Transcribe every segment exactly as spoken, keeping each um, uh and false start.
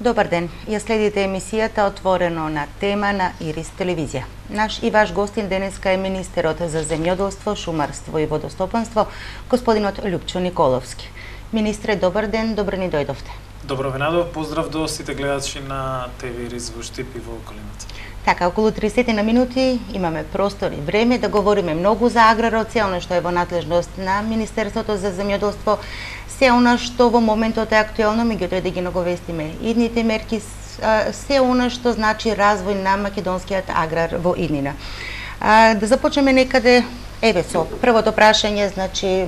Добар ден, ја следите емисијата Отворено на тема на Ирис телевизија. Наш и ваш гостин денеска е министерот за земјоделство, шумарство и водостопанство, господинот Љупчо Николовски. Министре, добар ден, добро ни дојдовте. Добро венадо, поздрав до сите гледачи на ТВ Ирис во Штип и во околината. Така, околу тридесет на минути имаме простор и време да говориме многу за аграроција, она што е во надлежност на Министерството за земјоделство, се она што во моментот е актуелно, меѓутоа да ги наговестиме идните мерки, се она што значи развој на македонскиот аграр во иднина. Да започнеме некаде, еве со првото прашање, значи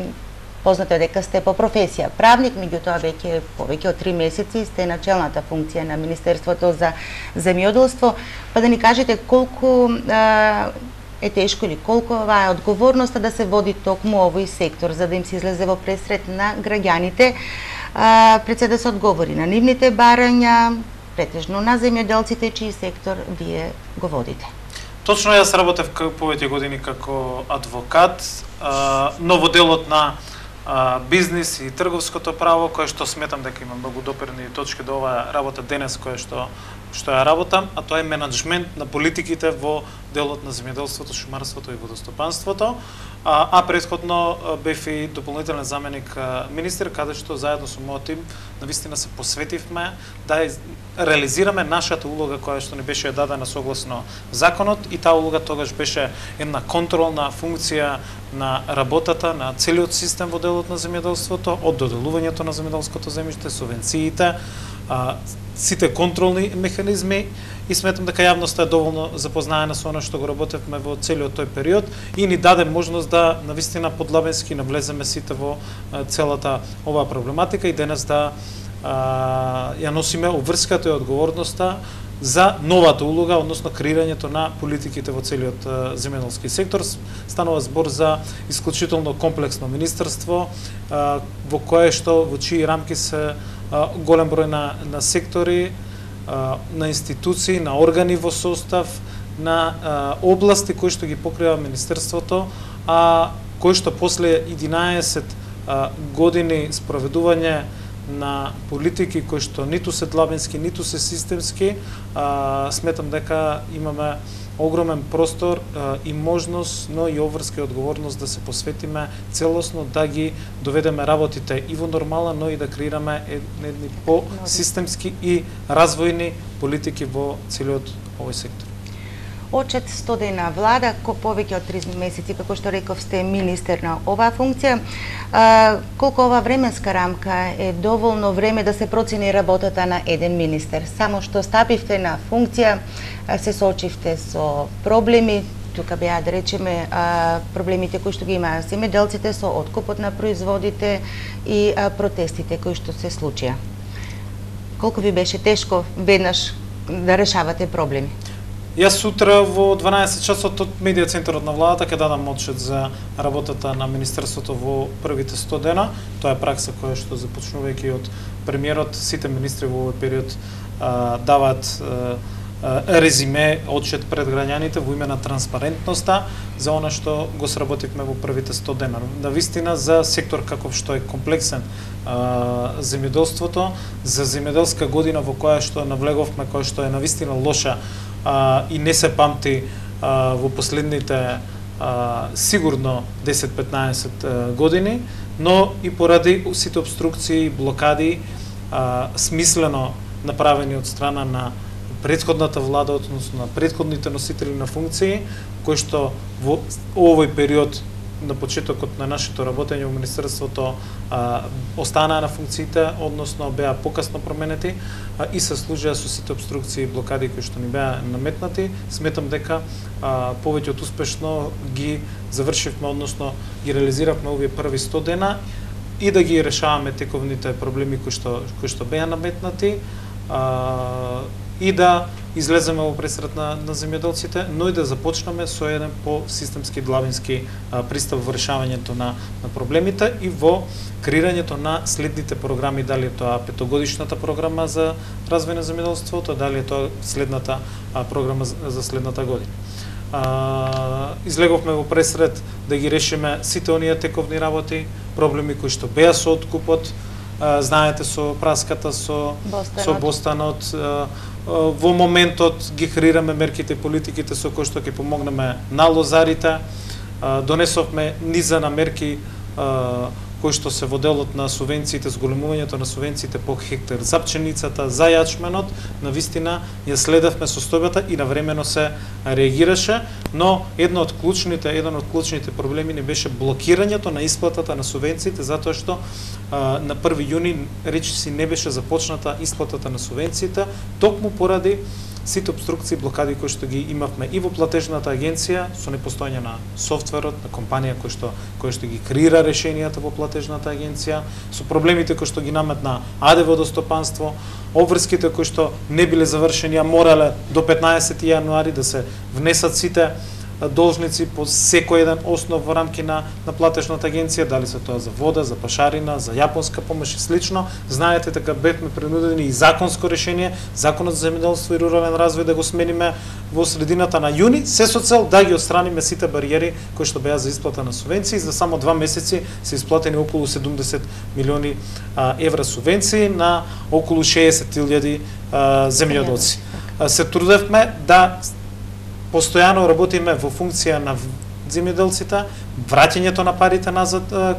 познато е дека сте по професија правник, меѓутоа веќе повеќе од три месеци сте на челната функција на Министерството за земјоделство, па да ни кажете колку е тешко или колку ова е одговорноста да се води токму овој сектор, за да им се излезе во пресред на граѓаните, пред се да се одговори на нивните барања, претежно на земјоделците, чиј сектор вие го водите. Точно, јас работев повеќе години како адвокат, но во делот на бизнис и трговското право, кое што сметам дека има многу допирни точки до оваа работа денес, кое што што ја работам, а тоа е менаџмент на политиките во делот на земјоделството, шумарството и водостопанството, а, а претходно бев и дополнителен заменик министер, каде што заедно со мојот тим навистина се посветивме да реализираме нашата улога која што ни беше дадена согласно законот, и таа улога тогаш беше една контролна функција на работата на целиот систем во делот на земјоделството, од доделувањето на земјоделското земјиште, субвенциите, а, сите контролни механизми, и сметам дека јавноста е доволно запознаена со она што го работевме во целиот тој период и ни даде можност да навистина подлабенски навлеземе сите во целата оваа проблематика и денес да а, ја носиме обврската и одговорноста за новата улога, односно креирањето на политиките во целиот земјоделски сектор. Станува збор за исклучително комплексно министерство, а, во кое што во чии рамки се а, голем број на, на сектори, а, на институции, на органи во состав, на а, области кои што ги покрива министерството, а кои што после единаесет а, години спроведување на политики кои што ниту се длабински, ниту се системски, а, сметам дека имаме огромен простор а, и можност, но и обврска и одговорност да се посветиме целосно, да ги доведеме работите и во нормала, но и да креираме едни по-системски и развојни политики во целиот овој сектор. Очет стодена влада, ко повеќе од три месеци, како што реков, сте министер на оваа функција. А, колку ова временска рамка е доволно време да се процени работата на еден министер? Само што стапивте на функција, се соочивте со проблеми, тука беа да речеме а, проблемите кои што ги имаа земјоделците со откупот на производите и а, протестите кои што се случија. Колку ви беше тешко веднаш да решавате проблеми? Јас сутра во дванаесет часот од медија центарот на владата ќе дадам отчет за работата на министерството во првите сто дена. Тоа е пракса која што започнувајќи од премиерот, сите министри во овој период а, даваат а, резиме, отчет пред граѓаните во име на транспарентноста за она што го сработивме во првите сто дена. Навистина за сектор каков што е комплексен а, земјоделството, за земјоделска година во која што навлеговме, која што е навистина лоша а, и не се памти а, во последните а, сигурно десет-петнаесет години, но и поради сите обструкции, блокади, а, смислено направени од страна на претходната влада, односно на претходните носители на функции, кои што во овој период на почетокот на нашето работење во Министерството а, останаа на функциите, односно беа покасно променети а, и се служија со сите обструкции и блокади кои што ни беа наметнати. Сметам дека а, повеќе од успешно ги завршивме, односно ги реализиравме овие први сто дена и да ги решаваме тековните проблеми кои што кои што беа наметнати, а, и да излеземе во пресред на, на земјоделците, но и да започнеме со еден по-системски длабински а, пристап во решавањето на, на проблемите и во креирањето на следните програми, дали е тоа петогодишната програма за развој на земјоделството, дали е тоа следната а, програма за, за следната година. А, излеговме во пресред да ги решиме сите оние тековни работи, проблеми кои што беа со откупот, знаете со праската со Бостанот. со Бостанот, во моментот ги креираме мерките и политиките со кои што ќе помогнеме на лозарите, донесовме низа на мерки кои што се во делот на субвенциите, зголемувањето на субвенциите по хектар за пченицата, за јачменот, навистина ја следевме состојбата и навремено се реагираше, но едно од клучните, еден од клучните проблеми не беше блокирањето на исплатата на субвенциите, затоа што а, на први јуни речиси не беше започната исплатата на субвенциите, токму поради сите обструкции, блокади кои што ги имавме и во платежната агенција со непостојање на софтверот, на компанија кој што кој што ги креира решенијата во платежната агенција, со проблемите кои што ги наметна АД водостопанство, обврските кои што не биле завршени, а морале до петнаесети јануари да се внесат сите должници по секој еден основ во рамки на, на платежната агенција, дали се тоа за вода, за пашарина, за јапонска помош и слично. Знаете, така бевме принудени и законско решение, Законот за земјоделство и рурален развој да го смениме во средината на јуни, се со цел да ги отстраниме сите бариери кои што беа за исплата на субвенции. За само два месеци се исплатени околу седумдесет милиони а, евра субвенции на околу шеесет илјади земјоделци. Се трудевме да постојано работиме во функција на земјоделците, враќањето на парите назад а,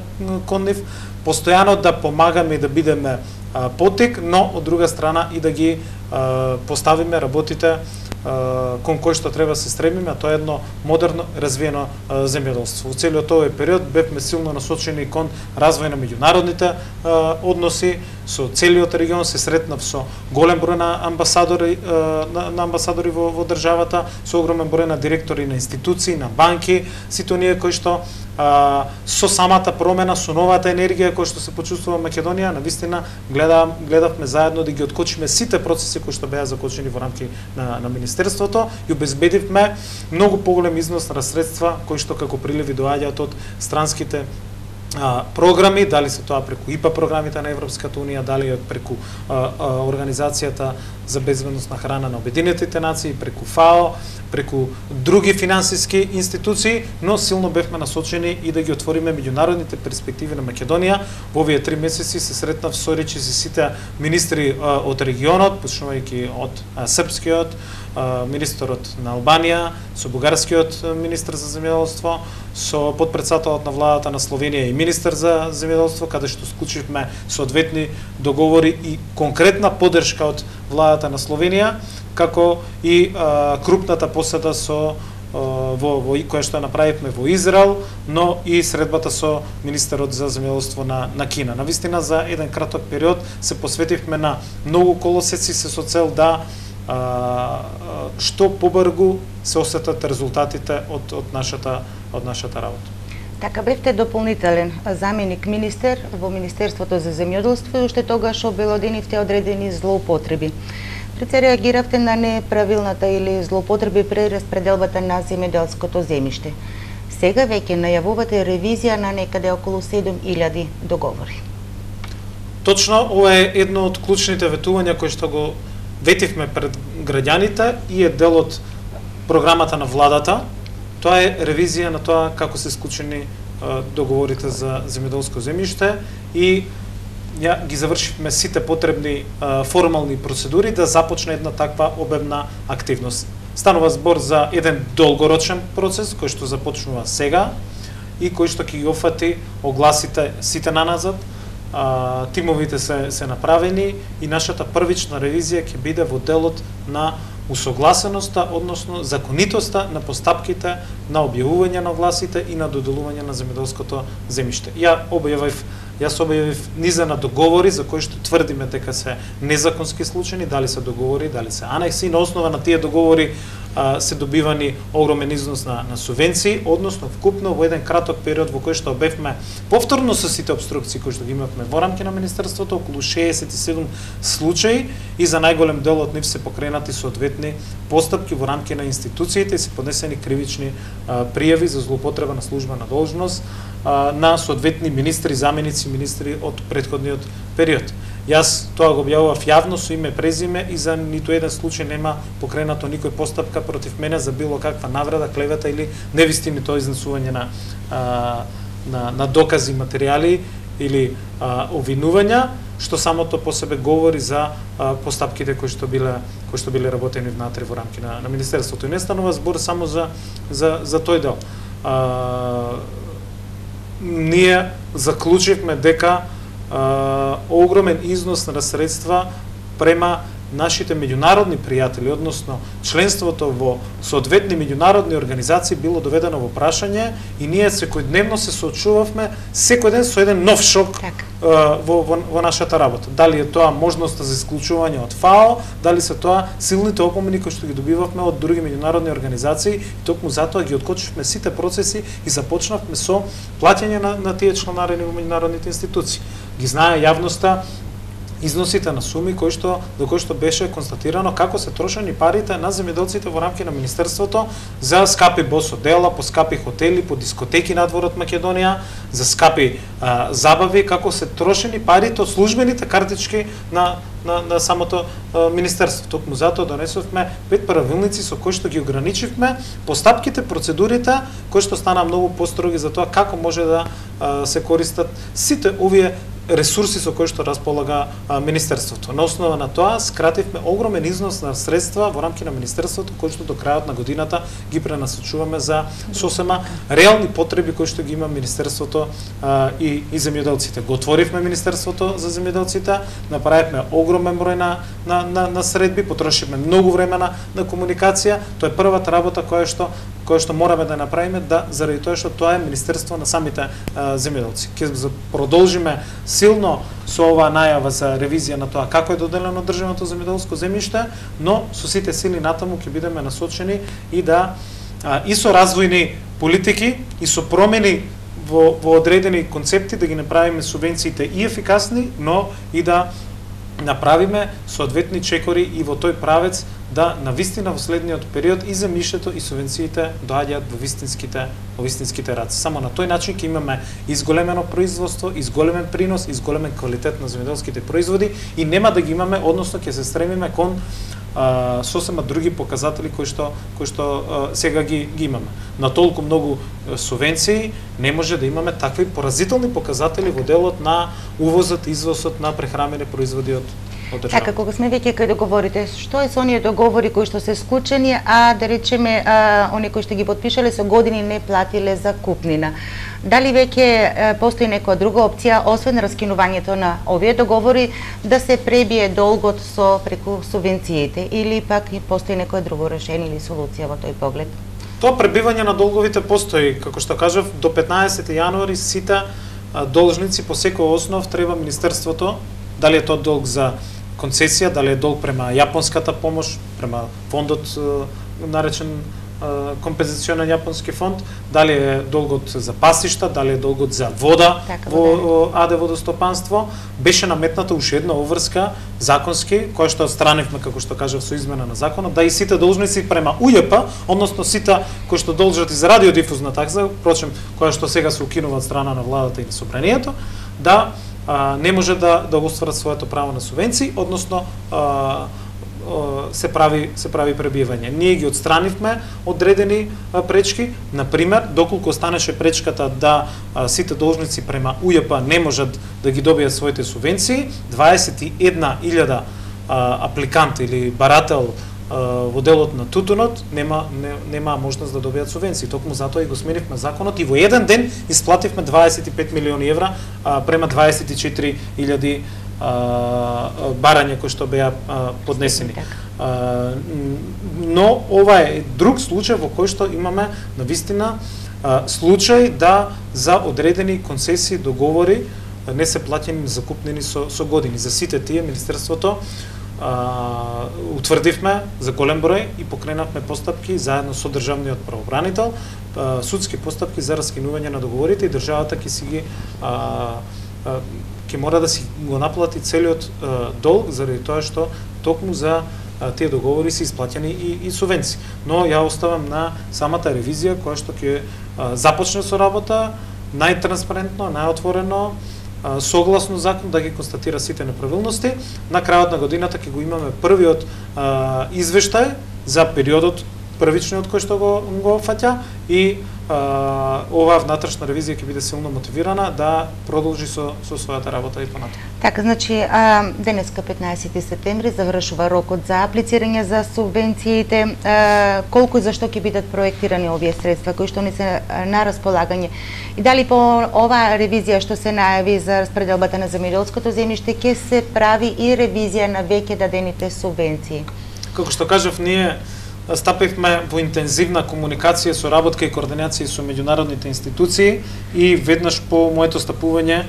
кон нив, постојано да помагаме и да бидеме а, потик, но од друга страна и да ги а, поставиме работите а, кон кој што треба се стремиме, а тоа е едно модерно развиено а, земјоделство. Во целиот овој период бевме силно насочени кон развој на меѓународните а, односи со целиот регион, се сретнав со голем број на амбасадори на, на амбасадори во, во државата, со огромен број на директори на институции, на банки, сите оние кои што а, со самата промена, со новата енергија која што се почувствува Македонија, навистина гледам, гледавме заедно да ги откочиме сите процеси кои што беа закочени во рамки на, на Министерството и обезбедивме многу поголем износ на средства кои што како приливи доаѓаат од странските А, програми, дали се тоа преку ИПА програмите на Европската унија, дали преку а, а, Организацијата за безбедност на храна на Обединетите нации, преку ФАО, преку други финансиски институции, но силно бевме насочени и да ги отвориме меѓународните перспективи на Македонија. Во овие три месеци се сретнав со речиси сите министри а, од регионот, почнувајќи од а, српскиот, а, министерот на Албанија, со бугарскиот министер за земјоделство, со подпредседателот на владата на Словенија и министер за земјоделство, каде што склучивме соодветни договори и конкретна поддршка од владата на Словенија, како и а, крупната посета со а, во, во која што направивме во Израел, но и средбата со министерот за земјоделство на, на Кина. Навистина за еден краток период се посветивме на многу колосеци се со цел да а, што побрзо се осетат резултатите од, од нашата од нашата работа. Така бевте дополнителен заменик министер во Министерството за земјоделство и уште тогаш обелоденивте одредени злоупотреби. Пред се реагиравте на неправилната или злоупотреби при распределбата на земјоделското земјиште. Сега веќе најавувате ревизија на некаде околу седум илјади договори. Точно, ова е едно од клучните ветувања кои што го ветивме пред граѓаните и е дел од програмата на владата. Тоа е ревизија на тоа како се склучени договорите за земјоделско земјиште и ја ги завршивме сите потребни а, формални процедури да започне една таква обемна активност. Станува збор за еден долгорочен процес кој што започнува сега и кој што ќе ги офати огласите сите наназад. А, тимовите се се направени и нашата првична ревизија ќе биде во делот на усогласеноста, односно законитоста на постапките на објавување на огласите и на доделување на земјоделското земјиште. Ја објавив Јас објавив низа на договори за кои што тврдиме дека се незаконски случаи, дали се договори, дали се анекси, на основа на тие договори а, се добивани огромен износ на, на субвенции, односно вкупно во еден краток период во кој што обевме повторно со сите обструкции кои што ги имавме во рамки на Министерството, околу шеесет и седум случаи и за најголем дел од нив се покренати соодветни постапки во рамки на институциите и се поднесени кривични а, пријави за злоупотреба на службена должност на соодветни министри, заменици министри од претходниот период. Јас тоа го објавував јавно со име презиме и за ниту еден случај нема покренато никој постапка против мене за било каква навреда, клевета или невистинито изнесување на, а, на, на докази, материјали или а, обвинувања. што самото по себе говори за а, постапките кои што биле кои што биле работени внатре во рамки на, на министерството. И не станува збор само за за за тој дел. А, ние заклучивме дека а, огромен износ на средства према нашите меѓународни пријатели, односно членството во соодветни меѓународни организации било доведено во прашање и ние секојдневно се соочувавме секој ден со еден нов шок так. uh, во, во, во нашата работа. Дали е тоа можноста за исклучување од ФАО, дали се тоа силните опомени кои што ги добивавме од други меѓународни организации, и токму затоа ги откочивме сите процеси и започнавме со плаќање на, на тие членари во меѓународните институции. Ги знае јавноста износите на суми кои што до кои што беше констатирано како се трошени парите на земјоделците во рамки на министерството за скапи бос одела, по скапи хотели, по дискотеки надвор од Македонија, за скапи а, забави, како се трошени парите од службените картички на на, на самото а, министерство. Токму затоа донесовме пет правилници со кои што ги ограничивме постапките, процедурите, кои што стана многу построги за тоа како може да а, се користат сите овие ресурси со кои што располага а, министерството. На основа на тоа скративме огромен износ на средства во рамки на министерството кои што до крајот на годината ги пренасочуваме за сосема реални потреби кои што ги има министерството а, и и земјоделците. Го отворивме министерството за земјоделците, направивме огромен број на на на, на средби, потрошивме многу време на, на комуникација. Тоа е првата работа која што која што мораме да направиме, да заради тоа што тоа е министерство на самите а, земјоделци. Ќе продолжиме силно со оваа најава за ревизија на тоа како е доделено државното земјоделско земјиште, но со сите сили натаму ќе бидеме насочени и да а, и со развојни политики и со промени во, во одредени концепти да ги направиме субвенциите и ефикасни, но и да направиме соодветни чекори и во тој правец да навистина во следниот период и земјиштето и субвенциите доаѓаат во вистинските во вистинските раци. Само на тој начин ќе имаме изголемено производство, изголемен принос, изголемен квалитет на земјоделските производи и нема да ги имаме, односно ќе се стремиме кон а, сосема други показатели кои што кои што а, сега ги ги имаме. На толку многу субвенции не може да имаме такви поразителни показатели во делот на увозот и извозот на прехранени производи од Така, кога сме веќе кај договорите, што е со оние договори кои што се склучени, а да речеме, а, оние кои што ги подпишале со години не платиле за купнина? Дали веќе постои некоја друга опција, освен раскинувањето на овие договори, да се пребие долгот со преку субвенциите, или пак постои некоја друго решение или солуција во тој поглед? Тоа пребивање на долговите постои, како што кажав, до петнаесети јануари сите должници по секој основ треба министерството, дали е тоа долг за концесија, дали е долг према јапонската помош, према фондот наречен компензационен јапонски фонд, дали е долгот за пасишта, дали е долгот за вода така, во АД водостопанство, беше наметната уште една обврска законски, која што отстранивме, како што кажав, со измена на законот, да и сите должници према УЈП, односно сите кои што должат и за радиодифузна такса, впрочем, која што сега се укинува од страна на владата и на собранието, да а, не може да да остварат своето право на субвенции, односно а, се прави се прави пребивање. Ние ги отстранивме одредени а, пречки, на пример, доколку останеше пречката да а, сите должници према УЈП не можат да ги добијат своите субвенции, дваесет и една илјада апликант или барател а, во делот на тутунот нема не, нема можност да добијат субвенции. Токму затоа и го сменивме законот и во еден ден исплативме дваесет и пет милиони евра а, према дваесет и четири илјади барања кои што беа поднесени. А, но ова е друг случај во кој што имаме навистина случај да за одредени концесии договори не се плаќени закупнени со, со години. За сите тие министерството а, утврдивме за голем број и покренавме постапки заедно со државниот правобранител, а, судски постапки за раскинување на договорите и државата ќе си ги а, а, ќе мора да си го наплати целиот а, долг заради тоа што токму за а, тие договори се исплаќани и, и субвенции. Но ја оставам на самата ревизија која што ќе а, започне со работа најтранспарентно, најотворено, а, согласно закон да ги констатира сите неправилности. На крајот на годината ќе го имаме првиот а, извештај за периодот првичниот кој што го го фаќа и а, оваа внатрешна ревизија ќе биде силно мотивирана да продолжи со со својата работа и понатаму. Така, значи, а, денеска петнаесети септември завршува рокот за аплицирање за субвенциите. А, колку и зашто ќе бидат проектирани овие средства кои што ни се на располагање? И дали по оваа ревизија што се најави за распределбата на земјоделското земјиште ќе се прави и ревизија на веќе дадените субвенции? Како што кажав, ние стапивме во интензивна комуникација, соработка и координација со меѓународните институции и веднаш по моето стапување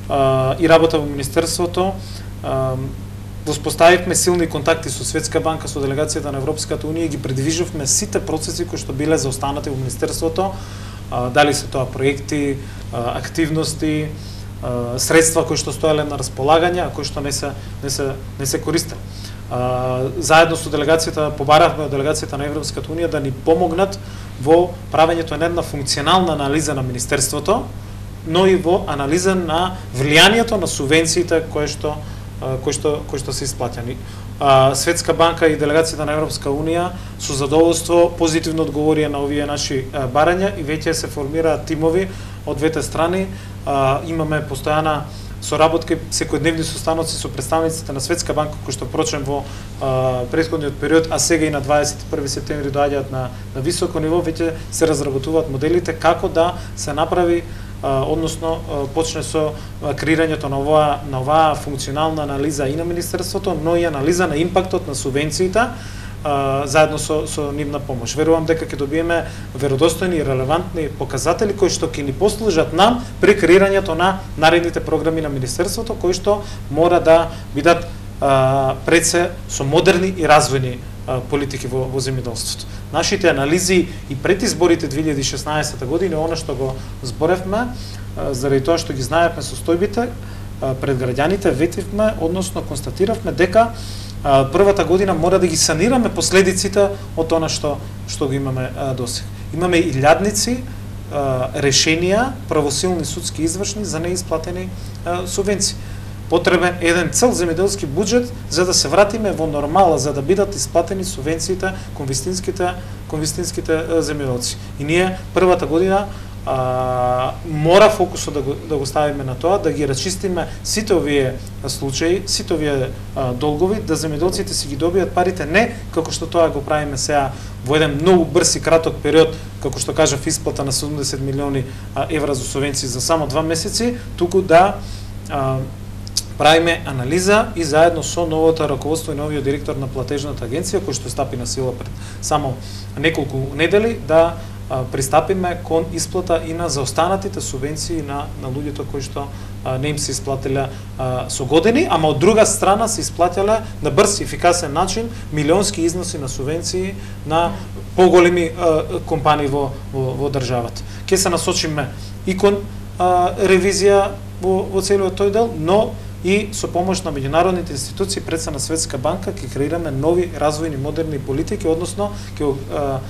а, и работа во Министерството а, воспоставивме силни контакти со Светска банка, со делегацијата на Европската унија и ги предвиживме сите процеси кои што биле заостанати во Министерството, а, дали се тоа проекти, а, активности, а, средства кои што стоеле на располагање, а кои што не се не се не се користеле. Uh, заедно со делегацијата побаравме од делегацијата на Европската унија да ни помогнат во правењето на една функционална анализа на Министерството, но и во анализа на влијанието на субвенциите кои што uh, кои што кои што се исплаќани. Uh, Светска банка и делегацијата на Европска унија со задоволство позитивно одговорија на овие наши uh, барања и веќе се формираат тимови од двете страни. Uh, имаме постојана соработка, секојдневни состаноци со представниците на Светска банка кои што прочем во а, претходниот период, а сега и на дваесет и први септември доаѓаат на на високо ниво, веќе се разработуваат моделите како да се направи а, односно а, почне со а, креирањето на оваа на оваа функционална анализа и на Министерството, но и анализа на импактот на субвенциите Uh, заедно со, со нивна помош. Верувам дека ќе добиеме веродостојни и релевантни показатели кои што ќе ни послужат нам при креирањето на наредните програми на Министерството, кои што мора да бидат uh, пред се со модерни и развојни uh, политики во, во земјоделството. Нашите анализи и пред изборите две илјади и шеснаесета година, она што го зборевме, uh, заради тоа што ги знаевме состојбите uh, пред граѓаните, ветивме, односно констатиравме дека првата година мора да ги санираме последиците од она што што го имаме досега. Имаме илјадници решенија, правосилни судски извршни за неисплатени субвенции. Потребен еден цел земјоделски буџет за да се вратиме во нормала, за да бидат исплатени субвенциите кон вистинските кон вистинските земјоделци. И ние првата година А, мора фокусот да го, да го ставиме на тоа, да ги расчистиме сите овие случаи, сите овие а, долгови, да земјоделците си ги добијат парите не како што тоа го правиме сега во еден многу брз и краток период, како што кажав, исплата на седумдесет милиони а, евра за субвенции за само два месеци, туку да а, правиме анализа и заедно со новото раководство и новиот директор на платежната агенција, кој што стапи на сила пред само неколку недели, да пристапиме кон исплата и на заостанатите субвенции на на луѓето кои што а, не им се исплатиле а, со години, ама од друга страна се исплатиле на брз и ефикасен начин милионски износи на субвенции на поголеми а, компании во, во во државата. Ке се насочиме и кон а, ревизија во во целиот тој дел, но и со помош на меѓународните институции, пред се на Светска банка, ќе креираме нови развојни модерни политики, односно ќе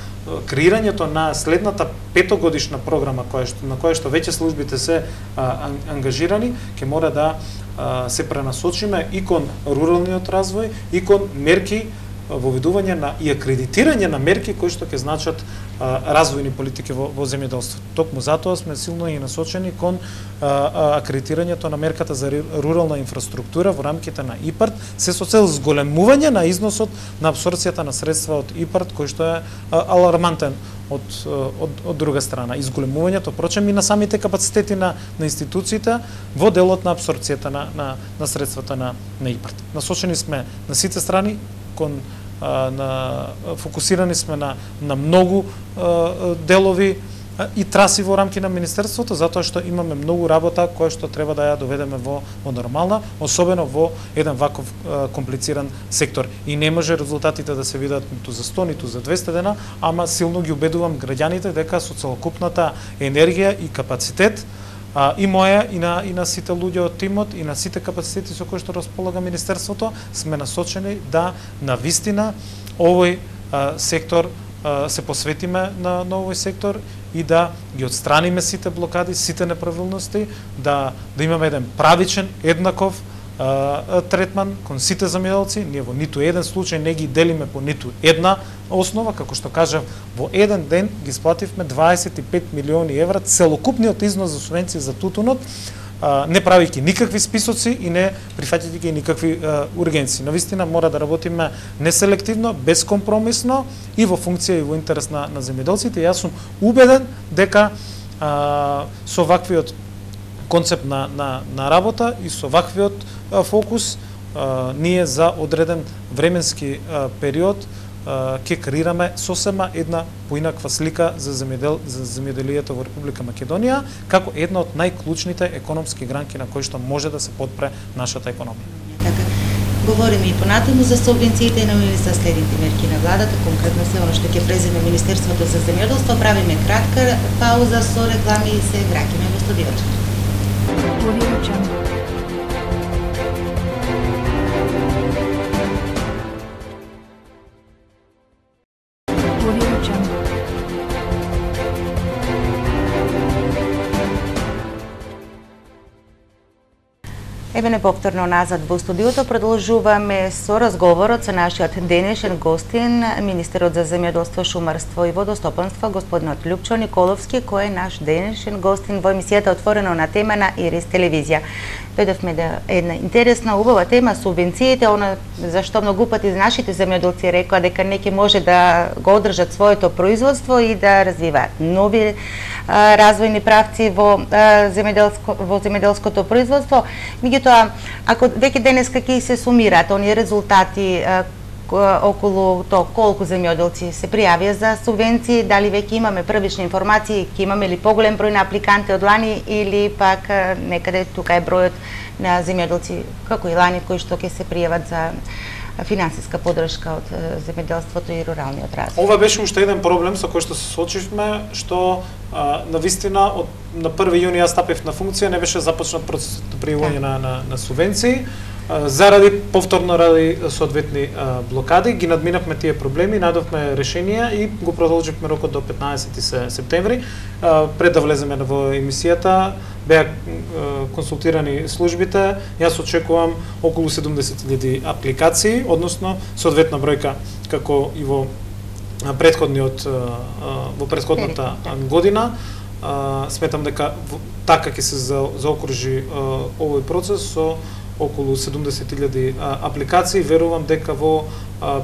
креирањето на следната петогодишна програма која што на која што веќе службите се а, ангажирани, ќе мора да а, се пренасочиме и кон руралниот развој и кон мерки воведување на и акредитирање на мерки кои што ќе значат а, развојни политики во, во земјоделството. Токму затоа сме силно и насочени кон а, а, акредитирањето на мерката за рурална инфраструктура во рамките на ИПАРД, се со цел зголемување на износот на апсорбцијата на средства од ИПАРД, кој што е а, алармантен од, од, од друга страна. Изголемувањето, прочем, и на самите капацитети на, на институциите во делот на апсорбцијата на, на, на средствата на, на ИПАРД. Насочени сме на сите страни, кон на фокусирани сме на на многу делови и траси во рамки на Министерството, затоа што имаме многу работа која што треба да ја доведеме во, во нормална, особено во еден ваков комплициран сектор. И не може резултатите да се видат ниту за сто, ниту за двесте дена, ама силно ги убедувам граѓаните дека со целокупната енергија и капацитет, А, и моја, и на, и на сите луѓе од тимот, и на сите капацитети со кои што располага Министерството, сме насочени да навистина овој а, сектор а, се посветиме на, на овој сектор и да ги отстраниме сите блокади, сите неправилности, да, да имаме еден правичен, еднаков третман кон сите земјоделци. Ние во ниту еден случај не ги делиме по ниту една основа, како што кажав, во еден ден ги сплативме дваесет и пет милиони евра целокупниот износ за субвенции за тутунот, не правејќи никакви списоци и не прифаќајќи никакви ургенции. Навистина мора да работиме неселективно, безкомпромисно и во функција и во интерес на, на земјоделците. Јас сум убеден дека а, со ваквиот концепт на, на, на работа и со ваквиот а, фокус а, ние за одреден временски а, период ќе креираме сосема една поинаква слика за земјодел за земјоделието во Република Македонија како една од најклучните економски гранки на кои што може да се подпре нашата економија. Така, говориме и понатаму за субвенциите, но и за следните мерки на владата, конкретно се оно што ќе преземе Министерството за земјоделство. Правиме кратка пауза со реклами и се враќаме во студиото. Еве не повторно назад во студиото, продолжуваме со разговорот со нашиот денешен гостин, министерот за земјоделство, шумарство и водостопанство, господинот Љупчо Николовски, кој е наш денешен гостин во емисијата Отворено на тема на Ирис телевизија. Дојдовме да една интересна, убава тема, субвенциите, она зашто многу пати нашите земјоделци рекоа дека неќе може да го одржат своето производство и да развиваат нови а, развојни правци во а, земјоделско во земјоделското производство. Меѓутоа, ако веќе денеска ќе се сумираат оние резултати а, околу тоа колку земјоделци се пријавија за субвенции, дали веќе имаме првични информации, ќе имаме ли поголем број на апликанти од лани или пак некаде тука е бројот на земјоделци како и лани кои што ќе се пријават за финансиска поддршка од земјоделството и руралниот развој. Ова беше уште еден проблем со кој што се соочивме, што а, навистина од на први јуни јас стапив на функција, не беше започнат процесот на пријавување на, на, на субвенции. Заради повторно ради соодветни блокади ги надминавме тие проблеми, најдовме решенија и го продолживме рокот до петнаесети септември. Пред да влеземе во емисијата беа консултирани службите. Јас очекувам околу седумдесет илјади апликации, односно соодветна бројка како и во претходниот во претходната година. Сметам дека така ќе се заокружи овој процес со околу седумдесет илјади апликации. Верувам дека во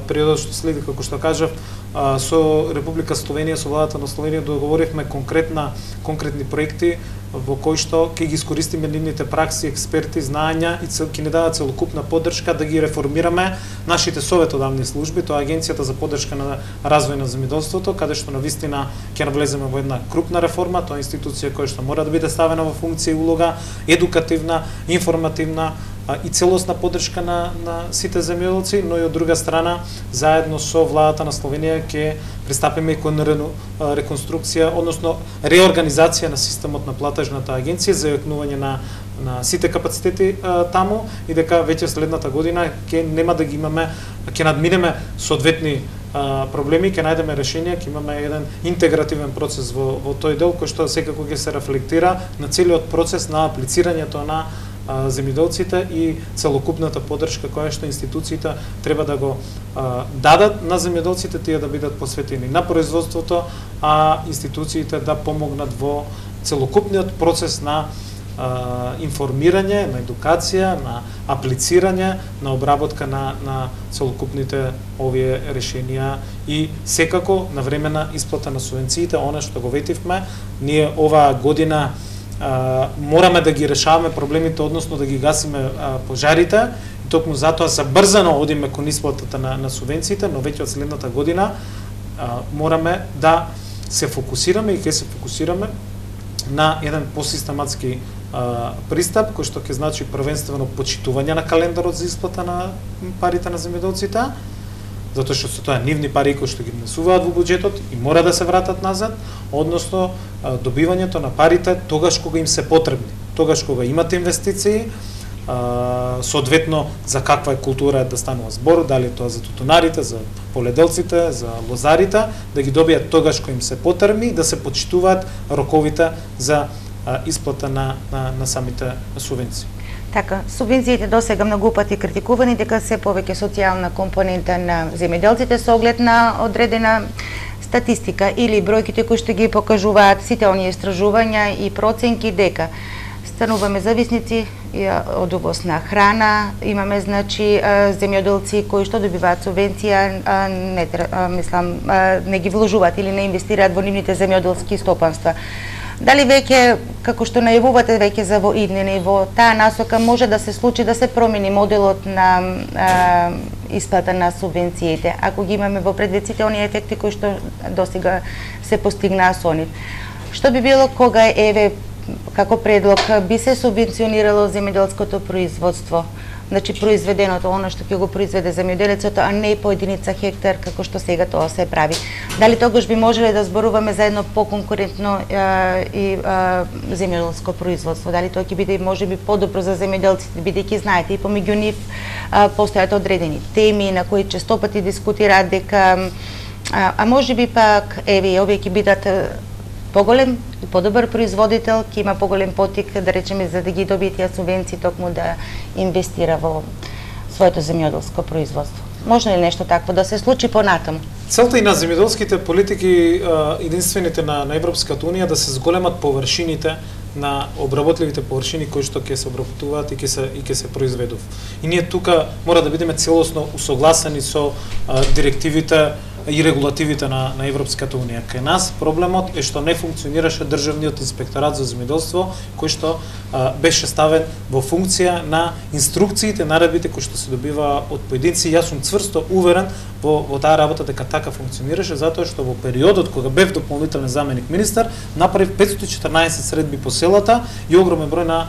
периодот што следи, како што кажав, со Република Словенија, со владата на Словенија договоривме конкретна конкретни проекти во кои што ќе ги искористиме нивните пракси, експерти, знаења и ќе ни дадат целокупна поддршка да ги реформираме нашите советодавни служби, тоа е Агенцијата за поддршка на развој на земјоделството, каде што навистина ќе навлеземе во една крупна реформа. Тоа е институција која што мора да биде ставена во функција и улога едукативна, информативна и целосна поддршка на, на сите земјоделци, но и од друга страна, заедно со владата на Словенија ќе пристапиме и кон реконструкција, односно реорганизација на системот на платежната агенција за јакнување на на сите капацитети а, таму и дека веќе следната година ќе нема да ги имаме, ќе надминеме соодветни а, проблеми, ќе најдеме решенија, ќе имаме еден интегративен процес во, во тој дел кој што секако ќе се рефлектира на целиот процес на аплицирањето на земјоделците и целокупната поддршка која што институциите треба да го а, дадат на земјоделците, тие да бидат посветени на производството, а институциите да помогнат во целокупниот процес на а, информирање, на едукација, на аплицирање, на обработка на, на целокупните овие решенија и секако на времена исплата на субвенциите, она што го ветивме, ние оваа година Uh, мораме да ги решаваме проблемите, односно да ги гасиме uh, пожарите, и токму затоа забрзано одиме кон исплатата на, на субвенциите, но веќе од следната година uh, мораме да се фокусираме и ќе се фокусираме на еден посистематски uh, пристап, кој што ќе значи првенствено почитување на календарот за исплата на парите на земјоделците, затоа што се тоа нивни пари кои што ги внесуваат во буџетот и мора да се вратат назад, односно добивањето на парите тогаш кога им се потребни, тогаш кога имате инвестиции, соодветно за каква е култура да станува збор, дали тоа за тутунарите, за поледелците, за лозарите, да ги добијат тогаш кога им се потребни, да се почитуваат роковите за исплата на, на, на самите субвенции. Така, субвенциите досега многу пати критикувани дека се повеќе социјална компонента на земјоделците со оглед на одредена статистика или бројките кои што ги покажуваат сите оние истражувања и проценки дека стануваме зависници од увоз на храна, имаме значи земјоделци кои што добиваат субвенција, не мислам не ги вложуваат или не инвестираат во нивните земјоделски стопанства. Дали веќе, како што најавувате веќе за во иднина и во таа насока може да се случи да се промени моделот на а, исплата на субвенциите, ако ги имаме во предвид сите оние ефекти кои што досега се постигнаа со нив. Што би било кога еве како предлог би се субвенционирало земјоделското производство? Значи произведеното, она што ќе го произведе земјоделецот, а не по единица хектар како што сега тоа се прави. Дали тогаш би можеле да зборуваме за едно поконкурентно и земјоделско производство? Дали тоа ќе биде можеби подобро за земјоделците, бидејќи знаете и помеѓу нив постојат одредени теми на кои честопати дискутираат дека а, а можеби пак еве овие ќе бидат поголем и подобар производител, ќе има поголем потик, да речеме, за да ги добие тие субвенции, токму да инвестира во своето земјоделско производство. Можно ли нешто такво да се случи понатаму? Целта и на земјоделските политики, единствените на, на Европската унија, да се зголемат површините на обработливите површини кои што ќе се обработуваат и ќе се и ќе се произведува. И ние тука мора да бидеме целосно усогласени со а, директивите и регулативите на, на Европската унија. Кај нас проблемот е што не функционираше државниот инспекторат за земјоделство, кој што а, беше ставен во функција на инструкциите, наредбите кои што се добива од поединци. Јас сум цврсто уверен во, во таа работа дека така функционираше, затоа што во периодот кога бев дополнителен заменик министар, направив петстотини и четрнаесет средби по селата и огромен број на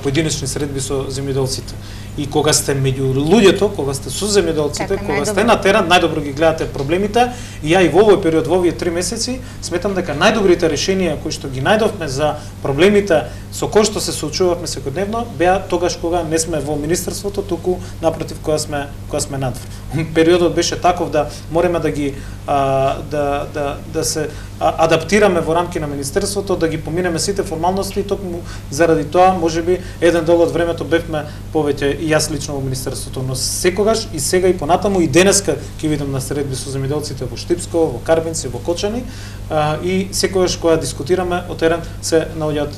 поединечни средби со земјоделците. И кога сте меѓу луѓето, кога сте со земјоделците, така, кога сте на терен, најдобро ги гледате проблемите. И ја и во овој период, во овие три месеци, сметам дека најдобрите решенија кои што ги најдовме за проблемите со кои што се соочувавме секојдневно, беа тогаш кога не сме во министерството, туку напротив кога сме кога сме надвор. Периодот беше таков да мореме да ги а, да да да се адаптираме во рамки на министерството, да ги поминеме сите формалности, и токму заради тоа можеби еден дел од времето бевме повеќе и јас лично во министерството, но секогаш и сега и понатаму и денеска ќе видам на средби со земјоделците во Штипско, во Карбенци, во Кочани, а, и секогаш кога дискутираме о терен се наоѓаат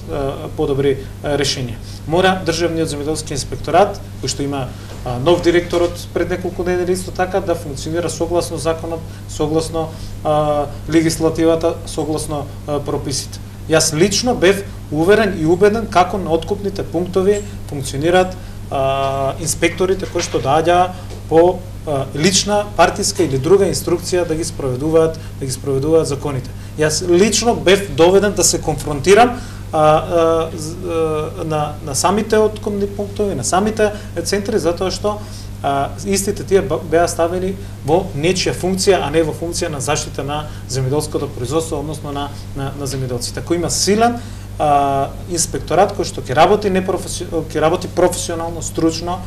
подобри а, решенија. Мора државниот земјоделски инспекторат, кој што има а, нов директор од пред неколку недели исто така, да функционира согласно законот, согласно а, легислативата, согласно а, прописите. Јас лично бев уверен и убеден како на откупните пунктови функционираат а, инспекторите кои што доаѓаа по а, лична, партиска или друга инструкција да ги спроведуваат, да ги спроведуваат законите. Јас лично бев доведен да се конфронтирам а, а, а, на, на самите откупни пунктови, на самите центри, затоа што а, истите тие беа ставени во нечија функција, а не во функција на заштита на земјоделското производство, односно на, на, на земјоделците. Кој има силен а, инспекторат кој што ќе работи непрофесионално, ќе работи професионално, стручно,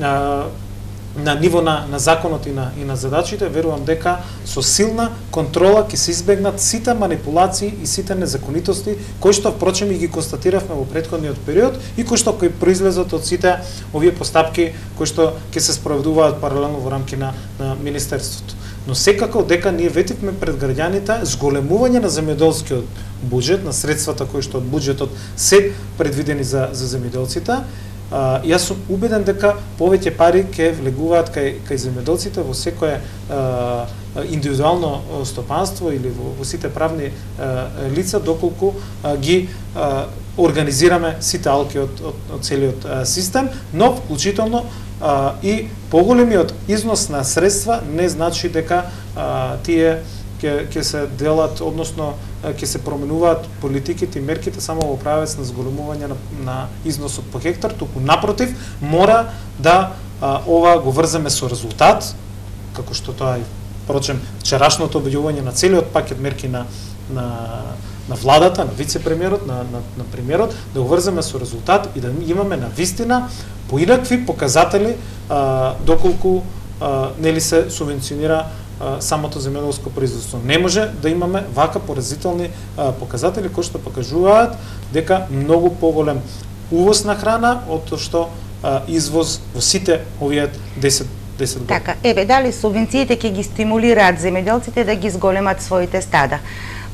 а, на ниво на, на законот и на, и на задачите, верувам дека со силна контрола ќе се избегнат сите манипулации и сите незаконитости кои што впрочем и ги констатиравме во претходниот период и кои што кои произлезат од сите овие постапки кои што ќе се спроведуваат паралелно во рамки на, на министерството. Но секако дека ние ветивме пред граѓаните зголемување на земјоделскиот буџет, на средствата кои што од буџетот се предвидени за, за земјоделците. Uh, јас сум убеден дека повеќе пари ќе влегуваат кај, кај земјоделците во секое uh, индивидуално стопанство или во, во сите правни uh, лица, доколку uh, ги uh, организираме сите алки од, од, од целиот uh, систем, но вклучително uh, и поголемиот износ на средства не значи дека uh, тие ќе ќе се делат, односно ќе се променуваат политиките и мерките само во правец на зголемување на, на износот по хектар, туку напротив мора да а, ова го врземе со резултат, како што тоа е впрочем вчерашното објавување на целиот пакет мерки на на на владата, на вице-премиерот, на, на, на премиерот, да го врземе со резултат и да имаме на вистина поинакви показатели а, доколку а, нели се субвенционира самото земјоделско производство. Не може да имаме вака поразителни а, показатели кои што покажуваат дека многу поголем увоз на храна, од тоа што а, извоз во сите овие десет години. Така, еве, дали субвенциите ќе ги стимулираат земјоделците да ги зголемат своите стада?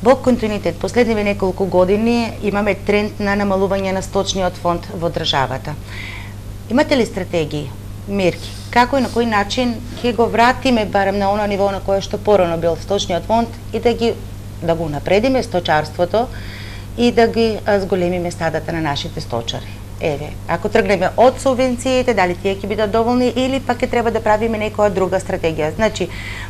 Во континуитет, последниве неколку години имаме тренд на намалување на сточниот фонд во државата. Имате ли стратегии, мерки, како и на кој начин ќе го вратиме барем на оно ниво на кое што порано бил сточниот фонд и да ги да го напредиме сточарството и да ги зголемиме стадата на нашите сточари? Еве, ако тргнеме од субвенциите, дали тие ќе бидат доволни или пак ќе треба да правиме некоја друга стратегија? Значи,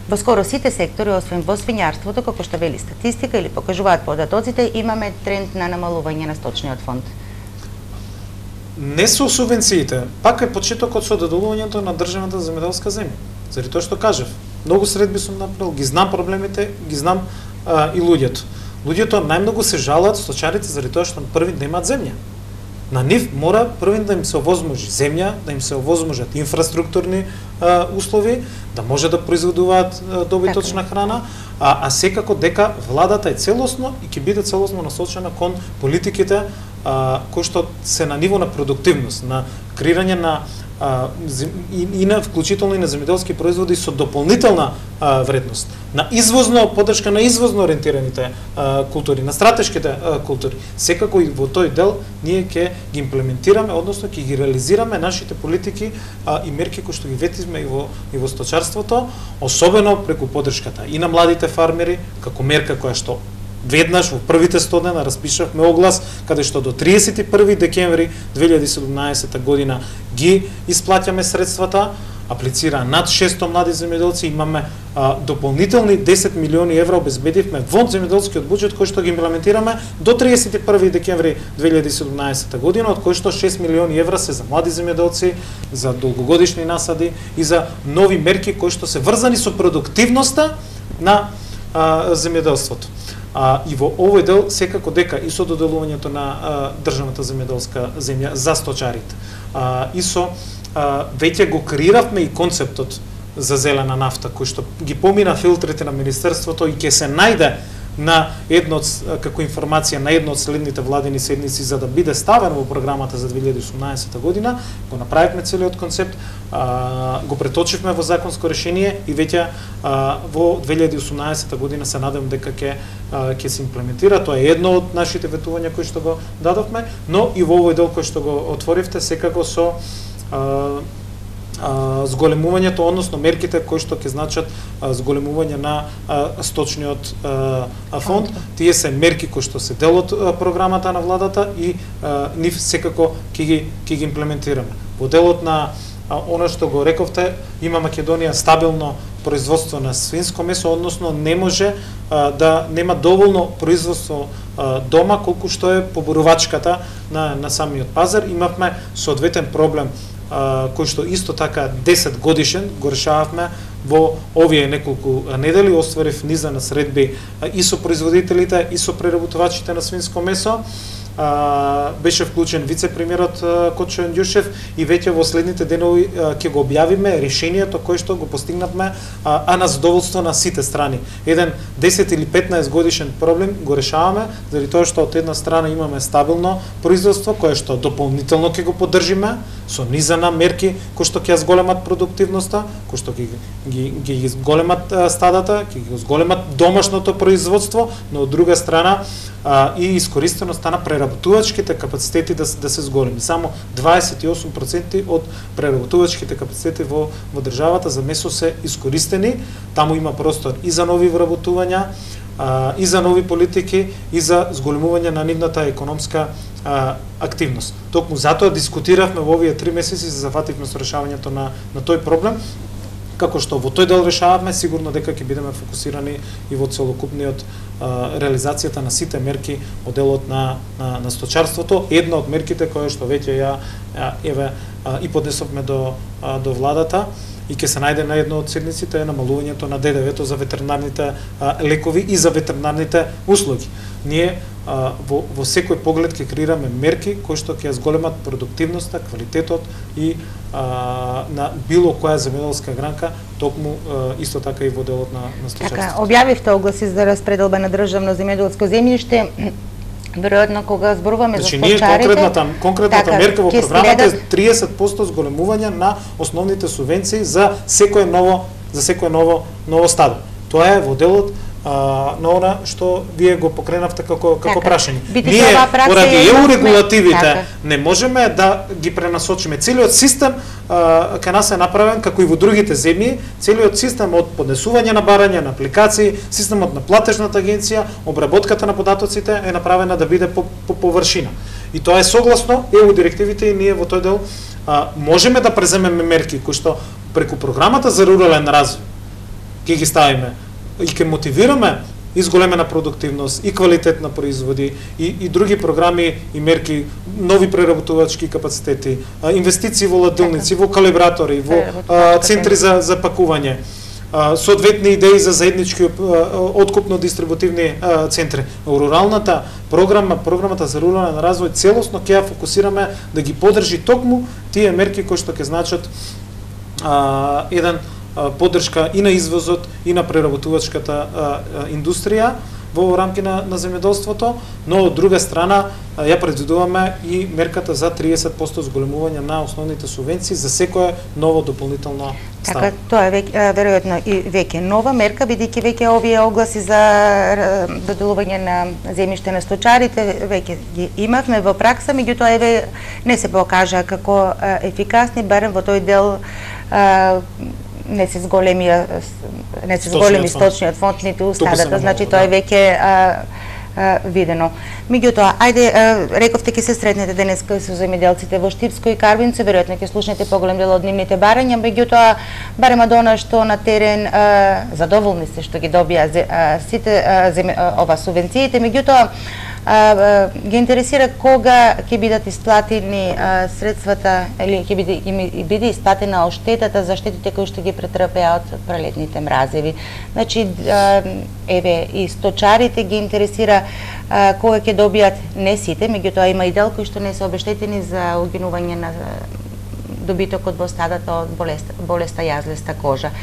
во скоро сите сектори, освен во свињарството, како што вели статистика или покажуваат податоците, имаме тренд на намалување на сточниот фонд. Не со субвенциите, пак е почетокот со доделувањето на државната земјоделска земја. Заради тоа што кажав, многу средби сум направил, ги знам проблемите, ги знам а, и луѓето. Луѓето најмногу се жалат сточарите заради тоа што први немаат земја. На нив мора први да им се овозможи земја, да им се овозможат инфраструктурни а, услови, да може да произведуваат а, добиточна храна, а, а секако дека владата е целосно и ќе биде целосно насочена кон политиките а, кои што се на ниво на продуктивност, на креирање на а, и, и на вклучително и на земјоделски производи со дополнителна а, вредност, на извозно поддршка на извозно ориентираните а, култури, на стратешките а, култури. Секако и во тој дел ние ќе ги имплементираме, односно ќе ги реализираме нашите политики а, и мерки кои што ги ветизме и во и во сточарството, особено преку поддршката и на младите фармери, како мерка која што веднаш во првите сто дена распишавме оглас каде што до триесет и први декември две илјади и седумнаесета година ги исплаќаме средствата, аплицира над шестстотини млади земјоделци, имаме а, дополнителни десет милиони евра обезбедивме во земјоделскиот буџет кој што ги имплементираме до триесет и први декември две илјади и седумнаесета година, од кои што шест милиони евра се за млади земјоделци, за долгогодишни насади и за нови мерки кои што се врзани со продуктивноста на а, земјоделството. А, и во овој дел секако дека и со доделувањето на а, државната земјоделска земја за сточарите, а, и со а, веќе го креиравме и концептот за зелена нафта, кој што ги помина филтрите на Министерството и ќе се најде на едно од, како информација на едно од следните владини седници за да биде ставен во програмата за две илјади и осумнаесета година, го направивме целиот концепт, а, го преточивме во законско решение и веќе а, во две илјади и осумнаесета година се надевам дека ќе ќе се имплементира. Тоа е едно од нашите ветувања кои што го дадовме, но и во овој дел кој што го отворивте секако со а, зголемувањето, односно мерките кои што ќе значат а, зголемување на а, сточниот а, фонд. Тие се мерки кои што се дел од а, програмата на владата и а, нив секако ќе ги ќе ги имплементираме. Во делот на а, она што го рековте, има Македонија стабилно производство на свинско месо, односно не може а, да нема доволно производство а, дома колку што е поборувачката на на самиот пазар. Имавме соодветен проблем кој што исто така десет годишен го решававме во овие неколку недели, остварив низа на средби и со производителите и со преработувачите на свинско месо. А, беше вклучен вице-премиерот Кочо Јандјушев и веќе во следните денови ќе го објавиме решението кое што го постигнавме, а, а на задоволство на сите страни. Еден десет или петнаесет годишен проблем го решаваме, заради тоа што од една страна имаме стабилно производство кое што дополнително ќе го поддржиме со низа на мерки кои што ќе зголемат продуктивноста, кои што ги ги ги зголемат стадата, ќе ги зголемат домашното производство, но од друга страна а, и искористеноста на преработувачките капацитети да, да се зголеми. Само дваесет и осум проценти од преработувачките капацитети во, во државата за месо се искористени. Таму има простор и за нови вработувања, а, и за нови политики, и за зголемување на нивната економска а, активност. Токму затоа дискутиравме во овие три месеци, се зафативме со решавањето на, на тој проблем. Како што во тој дел решаваме, сигурно дека ќе бидеме фокусирани и во целокупниот а, реализацијата на сите мерки од делот на, на, на сточарството. Една од мерките која што веќе ја, ја еве а, и поднесовме до, а, до владата и ќе се најде на едно од седниците е намалувањето на ДДВ за ветеринарните а, лекови и за ветеринарните услуги. Ние а, во, во секој поглед ќе креираме мерки кои што ќе зголемат продуктивноста, квалитетот и а, на било која земјоделска гранка, токму а, исто така и во делот на, на сточарството. Така, објавивте огласи за распределба на државно земјоделско земјиште. Веројатно кога зборуваме значи, за сточарите, конкретната конкретната така, мерка во програмата следат... е триесет проценти зголемување на основните субвенции за секое ново за секое ново ново стадо. Тоа е во делот а, на она што вие го покренавте како како така, прашање. Ние поради е... еу регулативите така. не можеме да ги пренасочиме. Целиот систем а, кај нас е направен како и во другите земји, целиот систем од поднесување на барања, на апликации, системот на платежната агенција, обработката на податоците е направена да биде по, по површина. И тоа е согласно еу директивите и ние во тој дел а, можеме да преземеме мерки кои што преку програмата за рурален развој ќе ги ставиме и ќе мотивираме изголемена продуктивност и квалитет на производи и, и други програми и мерки, нови преработувачки капацитети, а, инвестиции во ладилници, во калибратори, во а, центри за, за пакување, а, соодветни идеи за заеднички откупно-дистрибутивни а, центри. Руралната програма, програмата за рурален развој целосно ќе ја фокусираме да ги поддржи токму тие мерки кои што ќе значат а, еден поддршка и на извозот и на преработувачката а, а, индустрија во рамки на, на земјоделството, но од друга страна а, ја предвидуваме и мерката за триесет проценти зголемување на основните субвенции за секое ново дополнително стадо. Така, тоа е веќе, веројатно и веќе нова мерка, бидејќи веќе овие огласи за доделување на земјиште на сточарите веќе ги имавме во пракса, меѓутоа еве не се покажа како ефикасни, барем во тој дел а, не се зголеми не се зголеми сточниот фонд ниту стадата, значи тоа е веќе а, а, видено. Меѓутоа, ајде а, рековте ќе се сретнете денеска со земјоделците во Штипско и Карвинци, веројатно ќе слушнете поголем дел од нивните барања, меѓутоа барем од она што на терен а, задоволни се што ги добија а, сите а, земе, а, ова субвенциите, меѓутоа А, ги интересира кога ќе бидат исплатени а, средствата или ќе биде, биде исплатена оштетата за штетите кои што ги претрпеа од пролетните мразеви. Значи, а, еве и сточарите ги интересира а, кога ќе добијат не сите, меѓутоа има и дел кои што не се обештетени за угинување на добитокот во стадата од болест, болеста јазлеста кожа.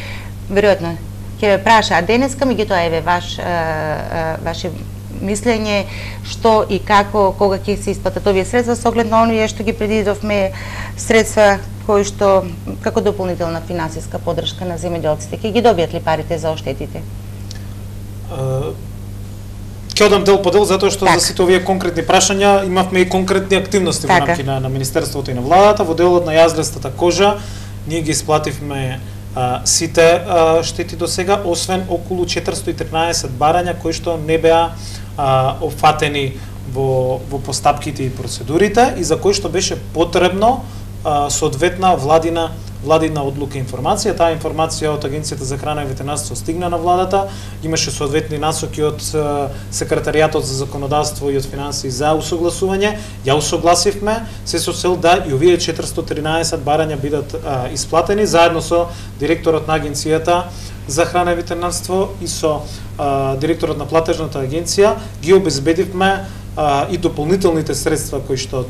Веројатно ќе ве праша денеска, меѓутоа еве ваш а, а, ваше мислење што и како, кога ќе се исплатат овие средства со оглед на оние што ги предвидовме средства кои што како дополнителна финансиска поддршка на земјоделците. Ќе ги добијат ли парите за оштетите? Ќе одам дел по дел затоа што так. За сите овие конкретни прашања имавме и конкретни активности така. во рамки на, на Министерството и на владата. Во делот на јазлестата кожа ние ги исплативме а, сите а, штети до сега, освен околу четиристотини и тринаесет барања кои што не беа а, офатени во, во постапките и процедурите и за кои што беше потребно а, соодветна владина владина одлука и информација. Таа информација од Агенцијата за храна и ветеринарство стигна на владата, имаше соодветни насоки од секретаријатот за законодавство и од финансии за усогласување. Ја усогласивме се со цел да и овие четиристотини и тринаесет барања бидат а, исплатени заедно со директорот на Агенцијата за храна и ветеринарство и со а, директорот на платежната агенција ги обезбедивме а, и дополнителните средства кои што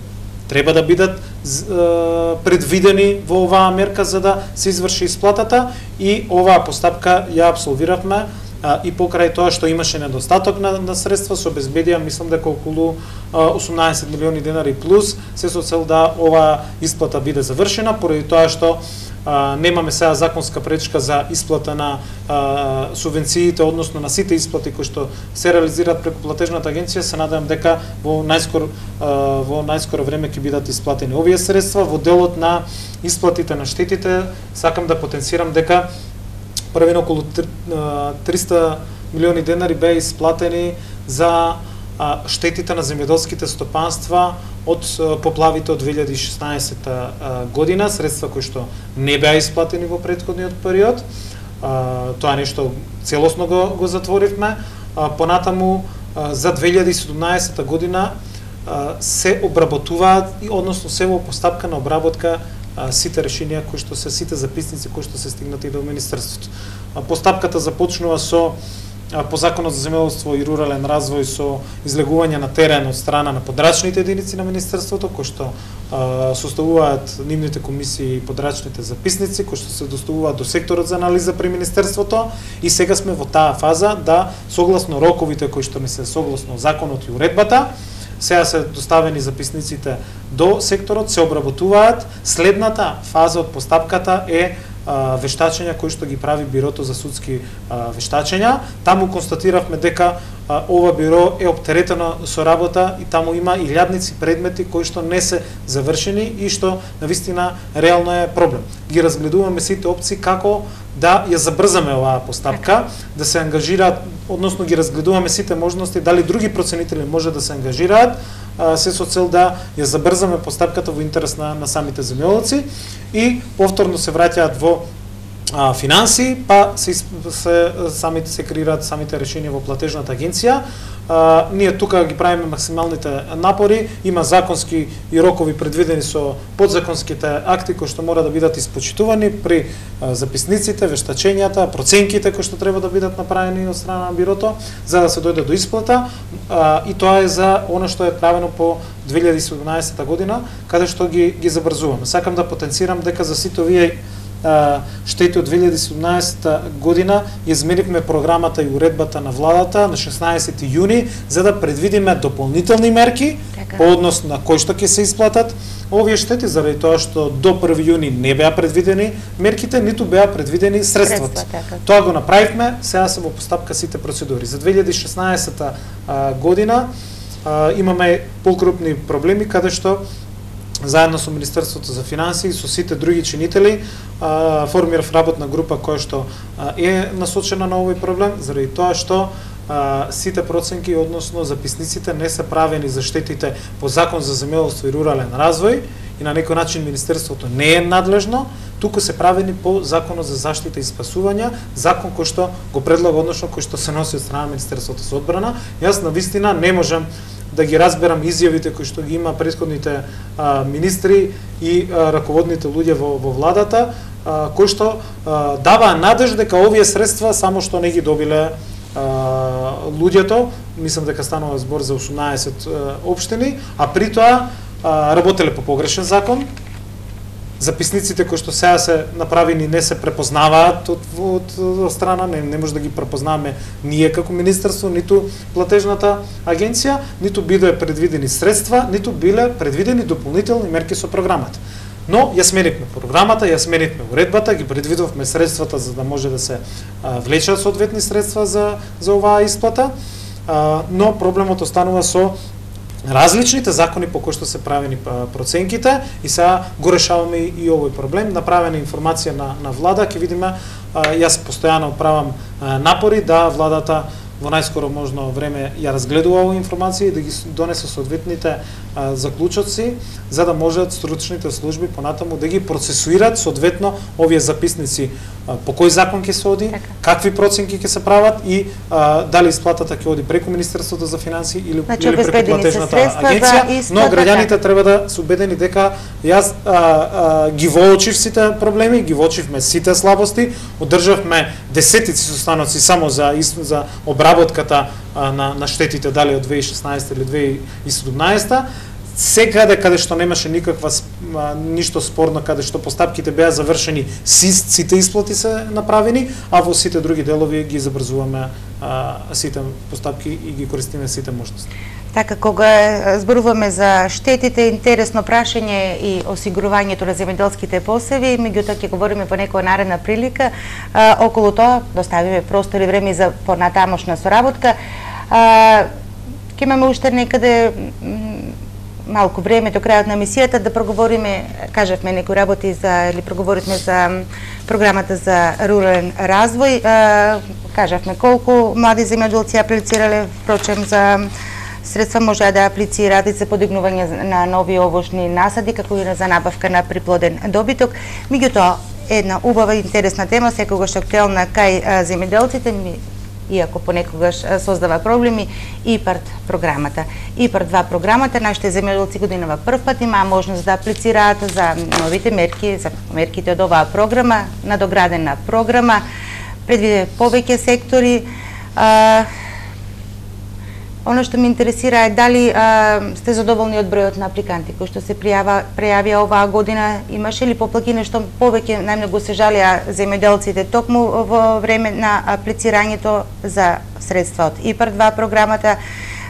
треба да бидат а, предвидени во оваа мерка за да се изврши исплатата и оваа постапка ја апсолвиравме а, и покрај тоа што имаше недостаток на, на средства се обезбедија мислам дека околу а, осумнаесет милиони денари плюс се со цел да оваа исплата биде завршена поради тоа што Uh, немаме сега законска пречка за исплата на uh, субвенциите, односно на сите исплати кои што се реализираат преку платежната агенција, се надевам дека во најскоро uh, во најскоро време ќе бидат исплатени овие средства. Во делот на исплатите на штетите, сакам да потенцирам дека првен околу триста милиони денари беа исплатени за uh, штетите на земјоделските стопанства од поплавите од две илјади и шеснаесетта година, средства кои што не беа исплатени во претходниот период. Тоа нешто целосно го, го затворивме. Понатаму за две илјади и седумнаесетта година се обработуваат, односно се во постапка на обработка сите решенија кои што се сите записници кои што се стигнати до Министерството. Постапката започнува со по Законот за земјоделство и рурален развој со излегување на терен од страна на подрачните единици на Министерството, кои што а, составуваат нивните комисии и подрачните записници, кои што се доставуваат до секторот за анализа при Министерството и сега сме во таа фаза да, согласно роковите кои што не се согласно законот и уредбата, сега се доставени записниците до секторот, се обработуваат. Следната фаза од постапката е а, вештачења кои што ги прави Бирото за судски а, вештачења. Таму констатиравме дека а, ова биро е оптеретено со работа и таму има илјадници предмети кои што не се завршени и што навистина реално е проблем. Ги разгледуваме сите опции како да ја забрзаме оваа постапка, да се ангажираат, односно ги разгледуваме сите можности дали други проценители може да се ангажираат, се со цел да ја забрзаме постапката во интерес на, на самите земјоделци и повторно се враќаат во а, финанси, па се, се самите се креираат самите решенија во платежната агенција. А, ние тука ги правиме максималните напори, има законски и рокови предвидени со подзаконските акти кои што мора да бидат испочитувани при а, записниците, вештачењата, проценките кои што треба да бидат направени од страна на бирото за да се дојде до исплата, а, и тоа е за она што е правено по две илјади и седумнаесета година, каде што ги ги забрзуваме. Сакам да потенцирам дека за сите овие штети од две илјади и седумнаесета година изменивме програмата и уредбата на владата на шеснаесети јуни за да предвидиме дополнителни мерки така, по однос на кои што ќе се исплатат овие штети, заради тоа што до први јуни не беа предвидени мерките, ниту беа предвидени средствата. Средства, Тоа го направивме, сега се во постапка сите процедури. За две илјади и шеснаесета година а, имаме покрупни проблеми каде што заедно со Министерството за финансии и со сите други чинители а, формирав работна група која што а, е насочена на овој проблем, заради тоа што а, сите проценки, односно записниците, не се правени за штетите по Закон за земјоделство и рурален развој и на некој начин Министерството не е надлежно, туку се правени по Законот за заштита и спасување, закон кој што го предлага, односно кој што се носи од страна на Министерството за одбрана. Јас навистина не можам да ги разберам изјавите кои што ги има претходните а, министри и а, раководните луѓе во, во владата, а, кои што а, даваа надеж дека овие средства само што не ги добиле а, луѓето, мислам дека станува збор за осумнаесет а, општини, а при тоа а, работеле по погрешен закон. Записниците кои што сега се направени не се препознаваат од, од, од страна, не, не може да ги препознаваме ние како министерство, ниту платежната агенција, ниту биле предвидени средства, ниту биле предвидени дополнителни мерки со програмата. Но ја сменивме програмата, ја сменивме уредбата, ги предвидовме средствата за да може да се а, влечат соодветни средства за за оваа исплата, а, но проблемот останува со различните закони по кои што се правени проценките и сега го решаваме и, и овој проблем. Направена информација на, на влада, ќе видиме, а, јас постојано правам а, напори да владата во најскоро можно време ја разгледува оваа информација и да ги донесе соодветните а, заклучоци за да можат стручните служби понатаму да ги процесуират соодветно овие записници а, по кој закон ќе се оди, така, какви проценки ќе се прават и а, дали исплатата ќе оди преку Министерството за финансии или, значи, или преку платежната агенција, но граѓаните треба да се убедени дека јас а, а, ги воочив сите проблеми, ги воочивме сите слабости, одржавме десетици состаноци само за за обработката а, на на штетите дали од две илјади и шеснаесета или две илјади и седумнаесета. Секаде каде што немаше никаква а, ништо спорно, каде што постапките беа завршени, сите исплати се направени, а во сите други делови ги забрзуваме а, сите постапки и ги користиме сите можности. Така, кога зборуваме за штетите, интересно прашање и осигурувањето на земјоделските посеви, меѓутоа ќе говориме по некоја наредна прилика. А, околу тоа доставиме простор и време за понатамошна соработка. А, ќе имаме уште некаде малку време до крајот на емисијата да проговориме, кажавме некои работи за, или проговоривме за програмата за рурален развој. А, кажавме колку млади земјоделци аплицирале, впрочем за средства можеа да аплицираат и за подигнување на нови овошни насади, како и за набавка на приплоден добиток. Меѓутоа, една убава и интересна тема, секогаш актуелна кај земјоделците, иако понекогаш создава проблеми, ИПАРД програмата. ИПАРД два програмата, нашите земјоделци годинава прв пат имаа можност да аплицираат за новите мерки, за мерките од оваа програма, надоградена програма, предвиде повеќе сектори. А, Оно што ме интересира е дали а, сте задоволни од бројот на апликанти кои што се пријава, пријавија оваа година, имаше ли поплаки нешто повеќе, најмногу се жалија земјоделците токму во време на аплицирањето за средства од ИПАРД два програмата.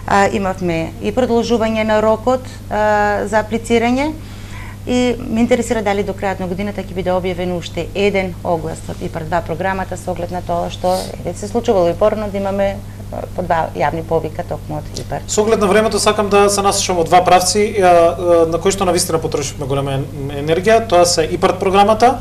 А, имавме и продолжување на рокот а, за аплицирање и ме интересира дали до крајот на годината ќе биде објавен уште еден оглас од ИПАРД два програмата со оглед на тоа што е се случувало и порано да имаме по два јавни повика токму од ИПАРД. Со оглед на времето сакам да се насочам од два правци на кои што навистина потрошивме голема енергија, тоа се ИПАРД програмата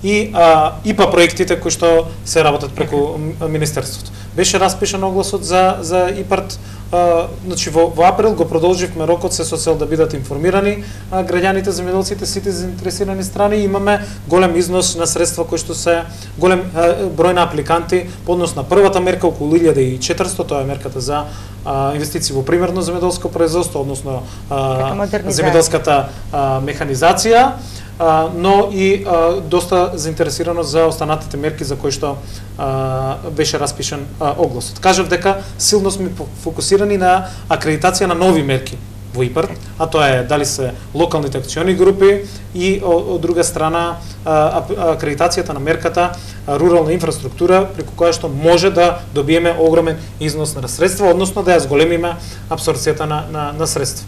и а, ИПА проектите кои што се работат преку министерството. Беше распишан огласот за за ИПАРД. Uh, значи во, во април го продолживме рокот се со цел да бидат информирани uh, граѓаните, земјоделците, сите заинтересирани страни. Имаме голем износ на средства кои што се голем uh, број на апликанти по однос на првата мерка околу илјада и четиристо, тоа е мерката за uh, инвестиции во примерно земјоделско производство, односно uh, земјоделската uh, механизација. Uh, но и uh, доста заинтересирано за останатите мерки за кои што uh, беше распишан uh, огласот. Кажав дека силно сме фокусирани на акредитација на нови мерки во ИПАРД, а тоа е дали се локалните акциони групи и од друга страна uh, акредитацијата на мерката uh, рурална инфраструктура, преку која што може да добиеме огромен износ на средства, односно да ја зголемиме апсорбцијата на, на, на средства.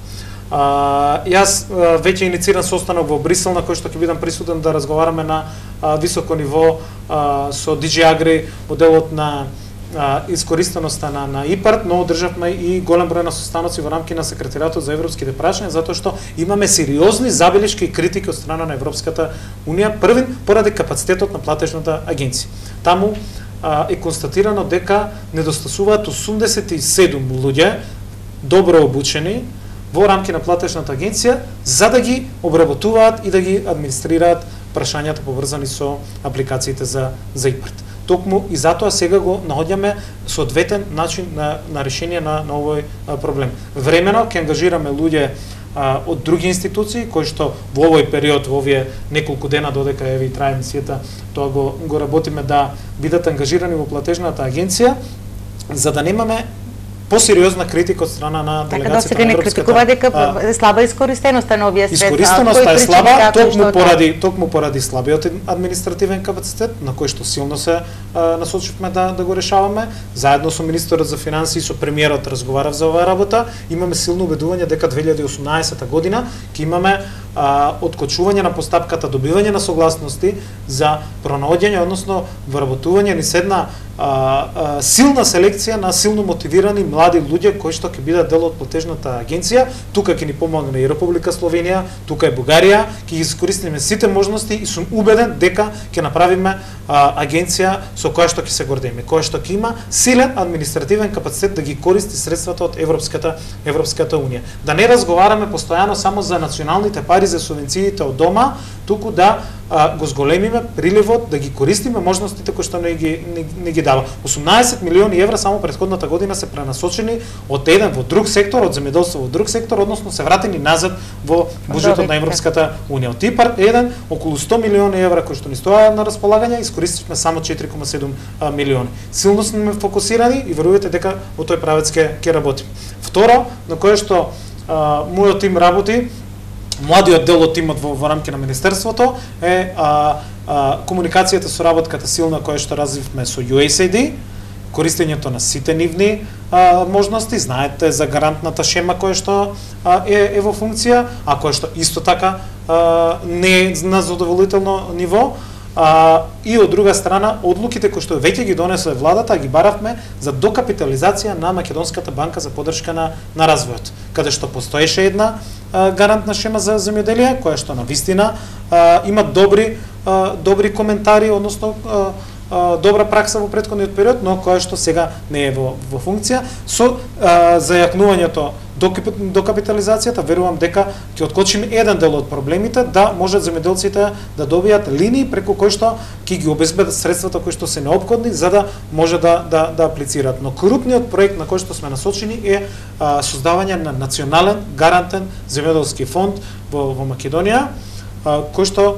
Uh, јас uh, веќе иницииран состанок во Брисел на кој што ќе бидам присутен да разговараме на uh, високо ниво uh, со ди џи Agri во делот на uh, искориственоста на, на ИПАРД, но одржавме и голем број на состаноци во рамки на секретаријатот за европските прашања, затоа што имаме сериозни забелешки и критики од страна на Европската Унија, првин поради капацитетот на платежната агенција. Таму uh, е констатирано дека недостасуваат осумдесет и седум луѓе добро обучени во рамки на платежната агенција за да ги обработуваат и да ги администрираат прашањата поврзани со апликациите за за ИПАРД. Токму и затоа сега го наоѓаме соодветен начин на на решение на, на овој а, проблем. Времено ќе ангажираме луѓе а, од други институции кои што во овој период, во овие неколку дена додека еве и трае мисијата, тоа го го работиме да бидат ангажирани во платежната агенција за да немаме посериозна критика од страна на делегацијата така, на Европската. Така да се не критикува дека е слаба искористеноста на овие средства. Искористеноста е слаба токму поради токму поради слабиот административен капацитет на кој што силно се а, насочивме да да го решаваме. Заедно со министерот за финансии и со премиерот разговарав за оваа работа. Имаме силно убедување дека две илјади и осумнаесета година ќе имаме а, откочување на постапката, добивање на согласности за пронаоѓање, односно вработување ни седна а, а, силна селекција на силно мотивирани млади луѓе кои што ќе бидат дел од платежната агенција. Тука ќе ни помогне и Република Словенија, тука е Бугарија, ќе ги искористиме сите можности и сум убеден дека ќе направиме а, агенција со која што ќе се гордееме, која што ќе има силен административен капацитет да ги користи средствата од Европската Европската Унија. Да не разговараме постојано само за националните пари за субвенциите од дома, туку да а, го зголемиме приливот, да ги користиме можностите кои што не ги не, не ги дава. осумнаесет милиони евра само претходната година се пренасочени од еден во друг сектор, од земјоделство во друг сектор, односно се вратени назад во буџетот на Европската Унија. Од ИПАРД еден околу сто милиони евра кои што ни стоја на располагање, искористивме само четири кома седум милиони. Силно сме фокусирани и верувате дека во тој правец ќе ќе работиме. Второ, на кое што а, мојот тим работи, младиот дел од тимот во, во рамки на министерството е а, а, комуникацијата со работката силна која што развивме со ю ес ей ди, користењето на сите нивни а, можности, знаете за гарантната шема која што а, е, е во функција, а која што исто така а, не е на задоволително ниво. А, и од друга страна, одлуките кои што веќе ги донесе владата, ги баравме за докапитализација на Македонската банка за поддршка на, на развојот, каде што постоеше една а, гарантна шема за земјоделие, која што на вистина а, има добри, а, добри коментари, односно а, добра пракса во претходниот период, но која што сега не е во, во функција. Со а, зајакнувањето до капитализацијата, верувам дека ќе откочиме еден дел од проблемите, да можат земјоделците да добијат линии преку кои што ќе ги обезбедат средствата кои што се неопходни за да може да да, да аплицираат. Но крупниот проект на кој што сме насочени е а, создавање на национален гарантен земјоделски фонд во, во Македонија, а, кој што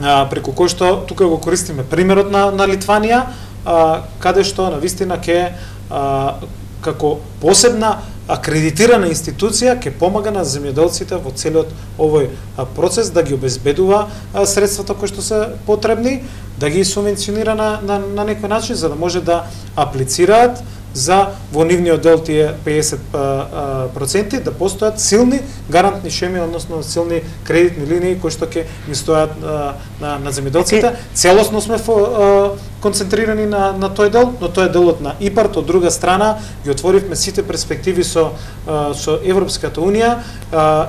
а, преку кој што тука го користиме примерот на на Литванија, а, каде што на вистина ќе како посебна акредитирана институција ќе помага на земјоделците во целиот овој процес да ги обезбедува средствата кои што се потребни, да ги субвенционира на, на, на некој начин за да може да аплицираат за во нивниот дел тие педесет проценти да постојат силни гарантни шеми, односно силни кредитни линии кои што ќе ни стојат на на земјоделците. Целосно сме фо, концентрирани на на тој дел, но тоа е делот на ИПАРД. Од друга страна ги отворивме сите перспективи со со Европската унија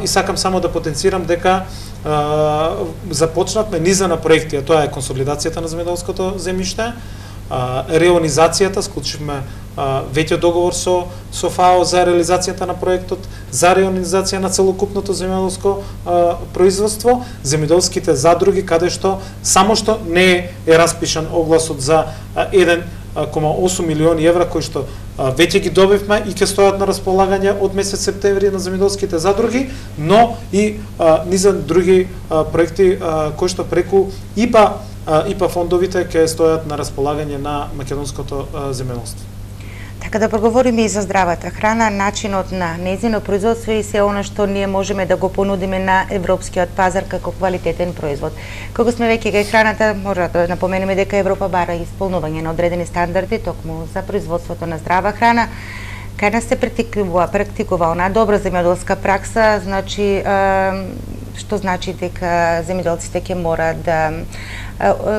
и сакам само да потенцирам дека Uh, започнавме низа на проекти, а тоа е консолидацијата на земјоделското земјиште, uh, реонизацијата, склучивме uh, веќе договор со со ФАО за реализацијата на проектот, за реонизација на целокупното земјоделско uh, производство, земјоделските задруги, каде што само што не е распишан огласот за uh, еден кома осум милиони евра кои што а, веќе ги добивме и ќе стојат на располагање од месец септември на земјоделските задруги, но и а, низа други а, проекти а, кои што преку ИПА а, ИПА фондовите ќе стојат на располагање на македонското а, земјоделство. Така да проговориме и за здравата храна, начинот на нејзино производство и се она што ние можеме да го понудиме на европскиот пазар како квалитетен производ. Кога сме веќе кај храната, може да напоменеме дека Европа бара исполнување на одредени стандарди токму за производството на здрава храна. Кај нас се практикува, практикува она добра земјоделска пракса, значи што значи дека земјоделците ќе мора да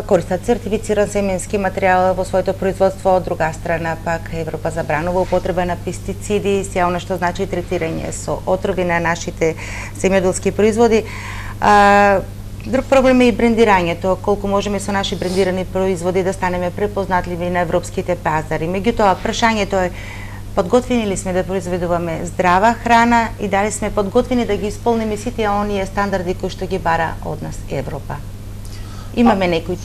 користат сертифициран семенски материјал во своето производство, од друга страна пак Европа забранува употреба на пестициди, се она што значи третирање со отрови на нашите земјоделски производи. А, друг проблем е и брендирањето, колку можеме со наши брендирани производи да станеме препознатливи на европските пазари. Меѓутоа, прашањето е подготвени ли сме да произведуваме здрава храна и дали сме подготвени да ги исполниме сите оние стандарди кои што ги бара од нас Европа? Имаме некои,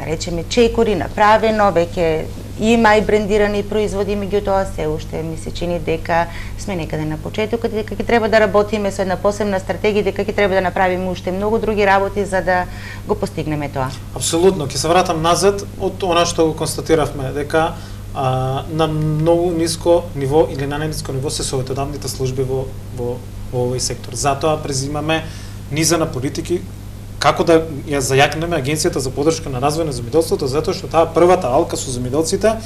речеме, чекори направено, веќе има и брендирани производи, меѓутоа се уште ми се чини дека сме некаде на почетокот, дека ќе треба да работиме со една посебна стратегија, дека ќе треба да направиме уште многу други работи за да го постигнеме тоа. Апсолутно, ќе се вратам назад од она што го констатиравме, дека а, на многу ниско ниво или на најниско ниво се советодавните служби во, во, во овој сектор. Затоа презимаме низа на политики како да ја зајакнеме Агенцијата за поддршка на развој на земјоделството, затоа што таа првата алка со земјоделците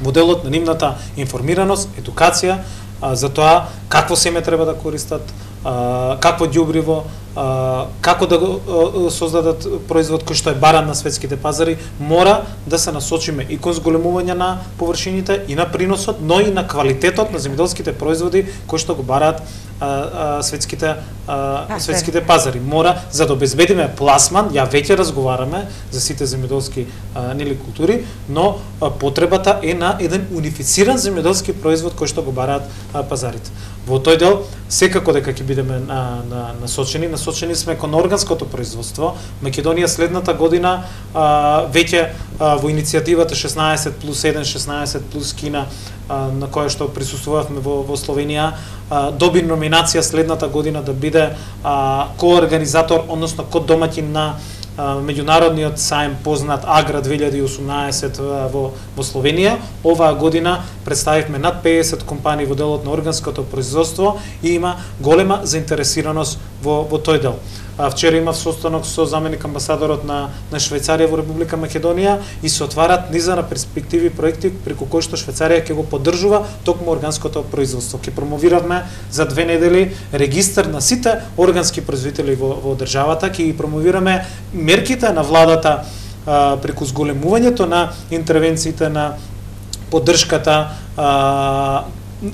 во делот на нивната информираност, едукација а, за тоа какво семе треба да користат, а, какво ѓубриво, а, како да го а, создадат производ кој што е баран на светските пазари, мора да се насочиме и кон зголемување на површините и на приносот, но и на квалитетот на земјоделските производи кои што го бараат а, а, светските а, светските пазари. Мора за да обезбедиме пласман, ја веќе разговараме за сите земјоделски нели култури, но а, потребата е на еден унифициран земјоделски производ кој што го бараат а, пазарите. Во тој дел секако дека ќе бидеме на, на, насочени, насочени сме кон органското производство. Македонија следната година а, веќе а, во иницијативата шеснаесет плюс еден, шеснаесет плюс Кина, а, на која што присуствувавме во, во Словенија, а, доби номинација следната година да биде а, коорганизатор, односно кодомаќин на меѓународниот сајм познат Агра две илјади и осумнаесет во, во Словенија. Оваа година представивме над педесет компании во делот на органското производство и има голема заинтересираност во, во тој дел. Вчера имав состанок со заменик амбасадорот на, на Швајцарија во Република Македонија и се отварат низа на перспективи проекти преку кои што Швајцарија ќе го поддржува токму органското производство. Ќе промовиравме за две недели регистар на сите органски производители во, во државата, ќе ги промовираме мерките на владата а, преку зголемувањето на интервенциите, на поддршката а,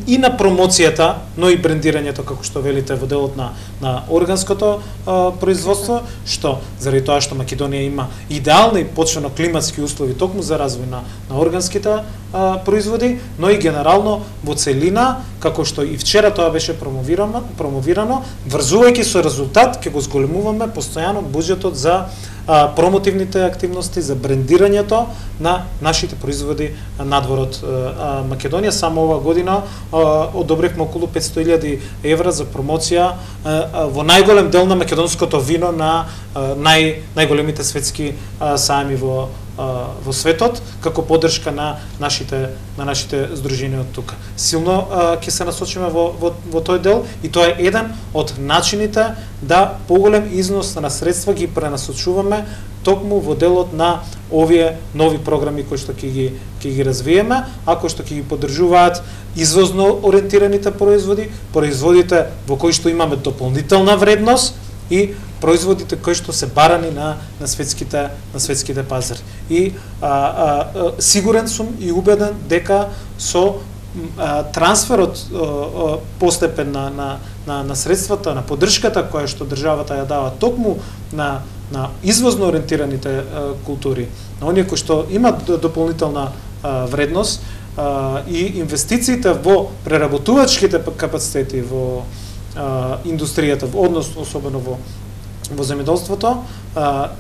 и на промоцијата, но и брендирањето, како што велите, во делот на, на органското а, производство, што заради тоа што Македонија има идеални почвено климатски услови токму за развој на, на органските а, производи, но и генерално во целина, како што и вчера тоа беше промовирано, промовирано врзувајќи со резултат, ќе го зголемуваме постојано буџетот за а, промотивните активности, за брендирањето на нашите производи надвор од а, Македонија. Само ова година одобривме околу петстотини илјади евра за промоција а, во најголем дел на македонското вино на а, нај најголемите светски а, сајми во во светот како поддршка на нашите на нашите здруженија од тука. Силно ќе се насочиме во, во во тој дел и тоа е еден од начините да поголем износ на средства ги пренасочуваме токму во делот на овие нови програми кои што ќе ги ќе ги развиеме, а кои што ќе ги поддржуваат извозно ориентираните производи, производите во кои што имаме дополнителна вредност и производите кои што се барани на на светските на светските пазари. И а, а, а, сигурен сум и убеден дека со а, трансферот а, а, постепен на, на на на средствата, на поддршката која што државата ја дава токму на на извозно ориентираните а, култури, на оние кои што имат дополнителна а, вредност а, и инвестициите во преработувачките капацитети во а, индустријата, однос особено во во земјоделството,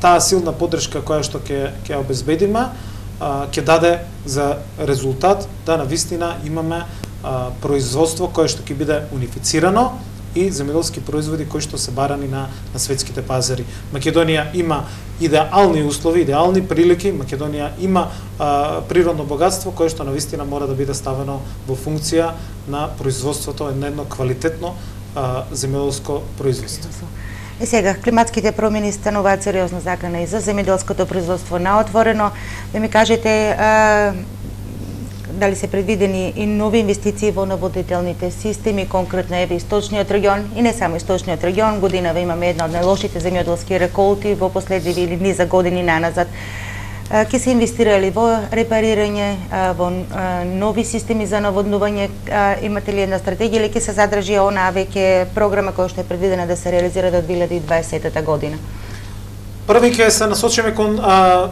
таа силна поддршка која што ќе ќе обезбедиме, ќе даде за резултат да навистина имаме а, производство кое што ќе биде унифицирано и земјоделски производи кои што се барани на на светските пазари. Македонија има идеални услови, идеални прилики. Македонија има а, природно богатство кое што навистина мора да биде ставено во функција на производството на едно квалитетно а, земјоделско производство. И сега, климатските промени стануваат сериозна закана и за земјоделското производство на отворено. Да ми кажете, а, дали се предвидени и нови инвестиции во наводнителните системи, конкретно еве источниот регион и не само источниот регион, годинава имаме една од најлошите земјоделски реколти во последниви или низа години наназад. Ке се инвестирали во репарирање, во нови системи за наводнување, имате ли една стратегија или ќе се задржи онаа веќе програма која што е предвидена да се реализира до две илјади и дваесета година? Први ќе се насочиме кон а,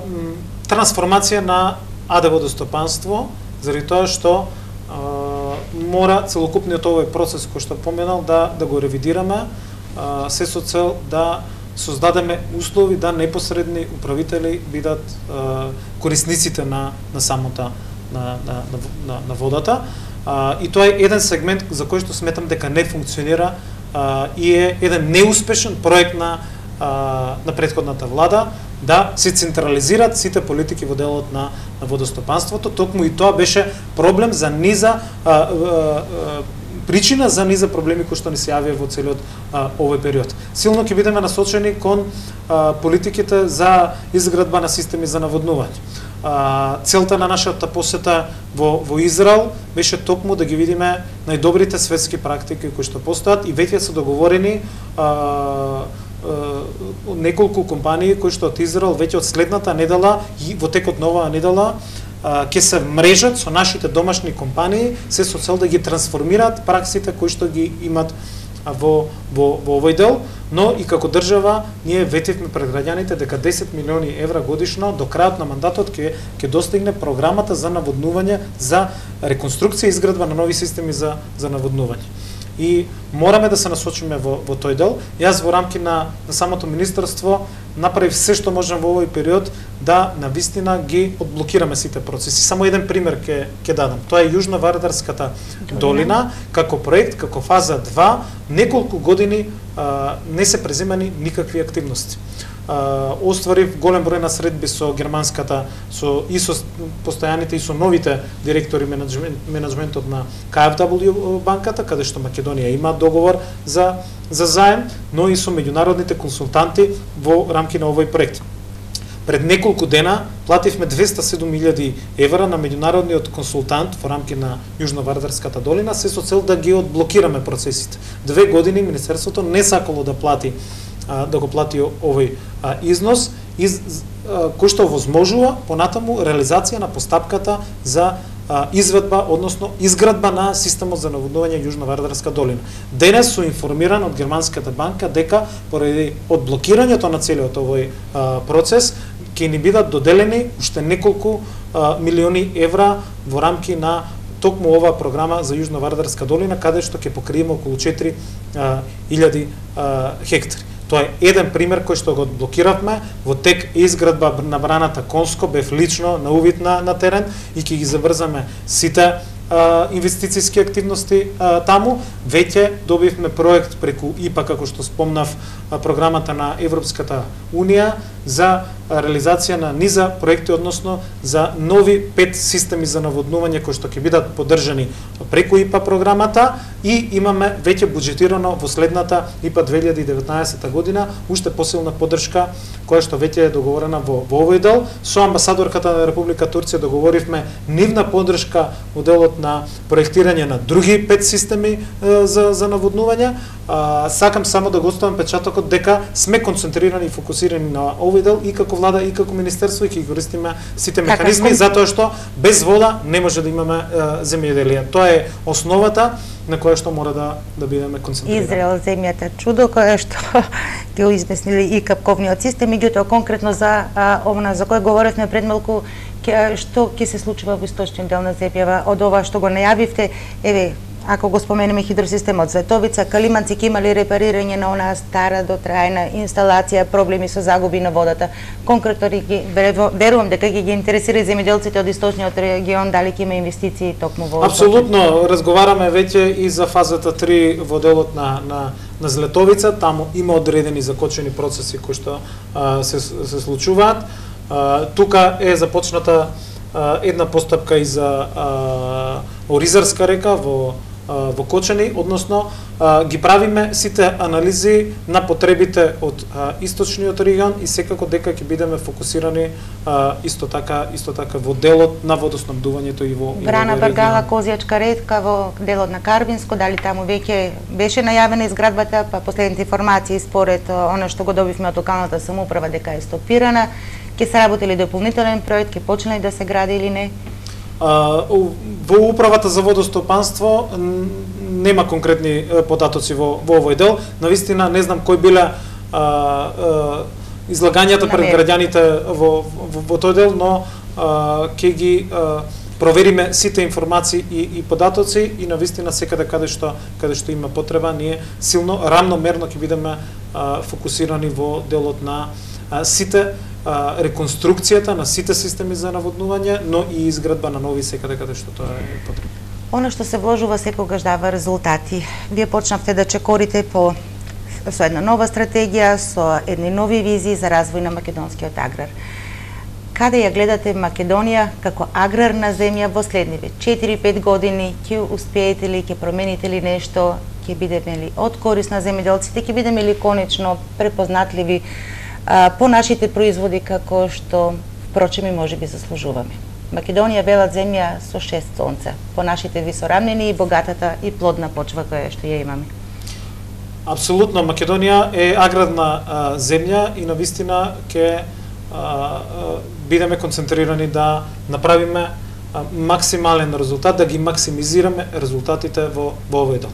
трансформација на АД водостопанство, заради тоа што а, мора целокупниот овој процес кој што поменал да да го ревидираме, а, се со цел да создадеме услови да непосредни управители бидат а, корисниците на на самата на на на, на водата. А, и тоа е еден сегмент за кој што сметам дека не функционира а, и е еден неуспешен проект на а, на претходната влада да се централизираат сите политики во делот на на водостопанството. Токму и тоа беше проблем за низа а, а, а, причина за низа проблеми кои што ни се јавија во целиот а, овој период. Силно ќе бидеме насочени кон а, политиките за изградба на системи за наводнување. А, целта на нашата посета во во Израел беше токму да ги видиме најдобрите светски практики кои што постојат и веќе се договорени а, а, неколку компании кои што од Израел веќе од следната недела и во текот на оваа недела ќе се мрежат со нашите домашни компании, се со цел да ги трансформираат праксите кои што ги имат во во во овој дел, но и како држава ние ветивме пред граѓаните дека десет милиони евра годишно до крајот на мандатот ќе ќе достигне програмата за наводнување, за реконструкција и изградба на нови системи за за наводнување. И мораме да се насочиме во во тој дел. Јас во рамки на на самото министерство направив се што можам во овој период да навистина ги одблокираме сите процеси. Само еден пример ќе ќе дадам. Тоа е Јужно-Вардарската долина како проект, како фаза два, неколку години а, не се преземани никакви активности. Uh, остварив голем број на средби со германската, со и со постојаните и со новите директори менеджмент, менеджментот на К Ф W банката, каде што Македонија има договор за за заем, но и со меѓународните консултанти во рамки на овој проект. Пред неколку дена плативме двеста и седум илјади евра на меѓународниот консултант во рамки на Јужно-Вардарската долина, се со цел да ги одблокираме процесите. Две години министерството не сакало да плати да го плати овој а, износ, из, а, кој што возможува понатаму реализација на постапката за а, изведба, односно изградба на системот за наводнување Јужно-Вардарска долина. Денес су информиран од германската банка дека поради одблокирањето на целиот овој а, процес ќе ни бидат доделени уште неколку а, милиони евра во рамки на токму оваа програма за Јужно-Вардарска долина, каде што ќе покриеме околу четири илјади хектари. Тоа е еден пример кој што го одблокиравме, во тек изградба на браната Конско, бев лично на увид на, на терен и ќе ги заврзаме сите а, инвестицијски активности а, таму. Веќе добивме проект преку И П А, како што спомнав, а, програмата на Европската Унија за реализација на низа проекти, односно за нови пет системи за наводнување кои што ќе бидат поддржани преку И П А програмата, и имаме веќе буџетирано во следната И П А две илјади и деветнаесетта година уште посилна поддршка која што веќе е договорена во, во овој дел. Со амбасадорката на Република Турција договоривме нивна поддршка во делот на проектирање на други пет системи е, за, за наводнување. А, сакам само да го оставам печатокот дека сме концентрирани и фокусирани на овој дел и како влада и како министерство, и ќе користиме сите механизми, затоа што без вода не може да имаме е, земјоделие. Тоа е основата на која што мора да да бидеме концентрирани. Израел, земјата чудо, која што ќе го измислили и капковниот систем, меѓутоа конкретно за а, овна за кој говоревме пред малку, ке, што ќе се случува во источниот дел на земјава од ова што го најавивте, еве, ако го споменеме хидросистемот Зветовица, Калиманци ќе имали репарирање на онаа стара дотрајна инсталација, проблеми со загуби на водата. Конкретно ги верувам дека ќе ги интересира и земјоделците од источниот регион, дали ќе има инвестиции токму во. Апсолутно, разговараме веќе и за фазата три во делот на на на Злетовица. Таму има одредени закочени процеси кои што а, се се случуваат. А, тука е започната а, една постапка и за а, Оризарска река во во Кочани, односно ги правиме сите анализи на потребите од источниот регион и секако дека ќе бидеме фокусирани исто така исто така во делот на водоснабдувањето и во Брана Баргала, Козјачка река во делот на Карвинско, дали таму веќе беше најавена изградбата, па последните информации според она што го добивме од локалната самоуправа дека е стопирана, ќе се работи ли дополнителен проект, ќе почне ли да се гради или не? Во управата за водостопанство нема конкретни податоци во, во овој дел. Навистина не знам кои биле а, а, излагањата пред граѓаните во, во, во тој дел, но а, ќе ги а, провериме сите информации и, и податоци и навистина секаде каде што каде што има потреба, ние силно рамномерно ќе бидеме а, фокусирани во делот на а, сите реконструкцијата на сите системи за наводнување, но и изградба на нови секаде каде што тоа е потребно. Оно што се вложува секогаш дава резултати. Вие почнавте да чекорите по со една нова стратегија, со едни нови визии за развој на македонскиот аграр. Каде ја гледате Македонија како аграрна земја во следниве четири-пет години? Ќе успеете ли, ќе промените ли нешто, ќе бидеме ли од корис на земјоделците, ќе бидеме ли конечно препознатливи по нашите производи како што впрочем и можеби заслужуваме. Македонија бела земја со шест сонца, по нашите висорамнини и богатата и плодна почва која што ја имаме. Апсолутно, Македонија е аграрна а, земја и навистина ќе бидеме концентрирани да направиме а, максимален резултат, да ги максимизираме резултатите во, во овој дел.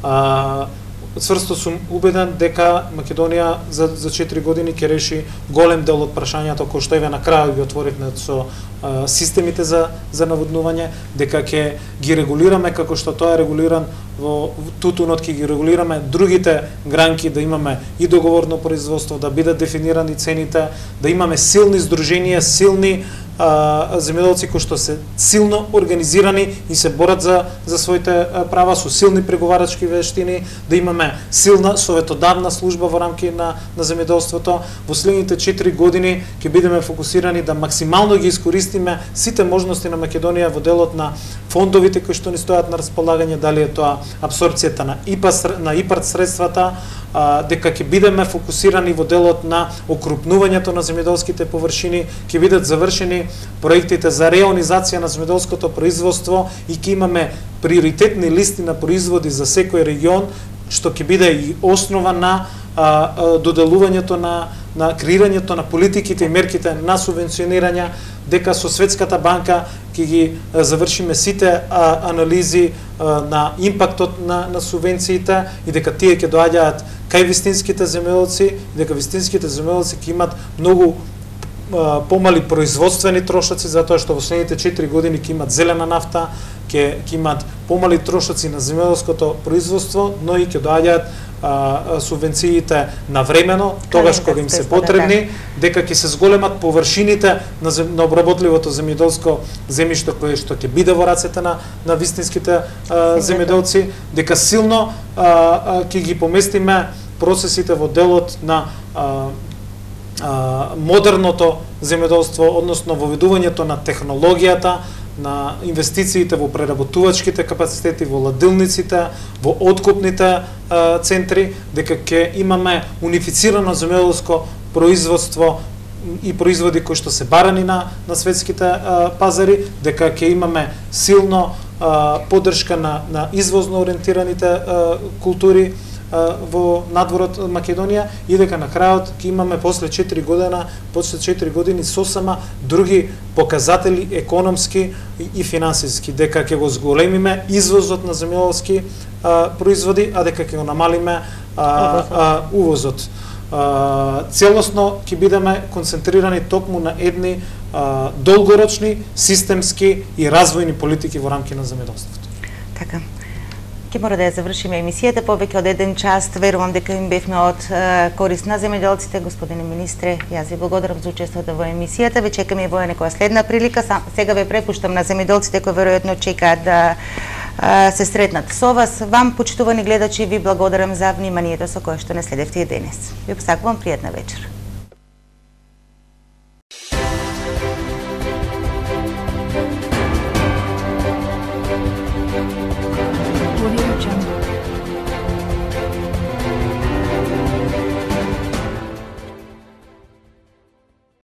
А, Цврсто сум убеден дека Македонија за, за четири години ќе реши голем дел од прашањата кои што еве на крај ги отворивме со а, системите за за наводнување, дека ќе ги регулираме како што тоа е регулиран во тутунот, ќе ги регулираме другите гранки, да имаме и договорно производство, да бидат дефинирани цените, да имаме силни здруженија, силни земјоделци кои што се силно организирани и се борат за за своите права со силни преговарачки вештини, да имаме силна советодавна служба во рамки на на земјоделството. Во следните четири години ќе бидеме фокусирани да максимално ги искористиме сите можности на Македонија во делот на фондовите кои што ни стојат на располагање, дали е тоа апсорбцијата на И П А на ИПАРД средствата, а, дека ќе бидеме фокусирани во делот на окрупнувањето на земјоделските површини, ќе бидат завршени проектите за реонизација на земјоделското производство и ќе имаме приоритетни листи на производи за секој регион, што ќе биде и основа на а, а, доделувањето на на креирањето на политиките и мерките на субвенционирање, дека со Светската банка ќе ги завршиме сите а, анализи а, на импактот на, на субвенциите и дека тие ќе доаѓаат кај вистинските земјоделци, дека вистинските земјоделци ќе имат многу помали производствени трошоци, затоа што во следните четири години ќе имат зелена нафта, ќе ќе имат помали трошоци на земјоделското производство, но и ќе доаѓаат субвенциите навремено, тогаш кога им се потребни, дека ќе се зголемат површините на, зем, на обработливото земјоделско земјиште кое што ќе биде во рацете на на вистинските земјоделци, дека силно а, а, ќе ги поместиме процесите во делот на а, а, модерното земјоделство, односно воведувањето на технологијата, на инвестициите во преработувачките капацитети, во ладилниците, во откупните а, центри, дека ќе имаме унифицирано земјоделско производство и производи кои што се барани на на светските а, пазари, дека ќе имаме силно а, поддршка на на извозно ориентираните а, култури во надворот од Македонија и дека на крајот ќе имаме после четири година, после четири години сосема други показатели економски и, и финансиски, дека ќе го зголемиме извозот на земјоделски производи, а дека ќе го намалиме а, а, увозот. А, целосно ќе бидеме концентрирани токму на едни а, долгорочни, системски и развојни политики во рамки на земјоделството. Така. Ке мора да ја завршиме емисијата, повеќе од еден час, верувам дека им бевме од е, корист на земјоделците. Господине министре, јас ви благодарам за учеството во емисијата. Ве чекаме и во некоја следна прилика. Сам, сега ве препуштам на земјоделците кои веројатно чекаат да е, се сретнат со вас. Вам, почитувани гледачи, ви благодарам за вниманието со кое што не следевте и денес. Ви посакувам пријатна вечер. Audio Jungle.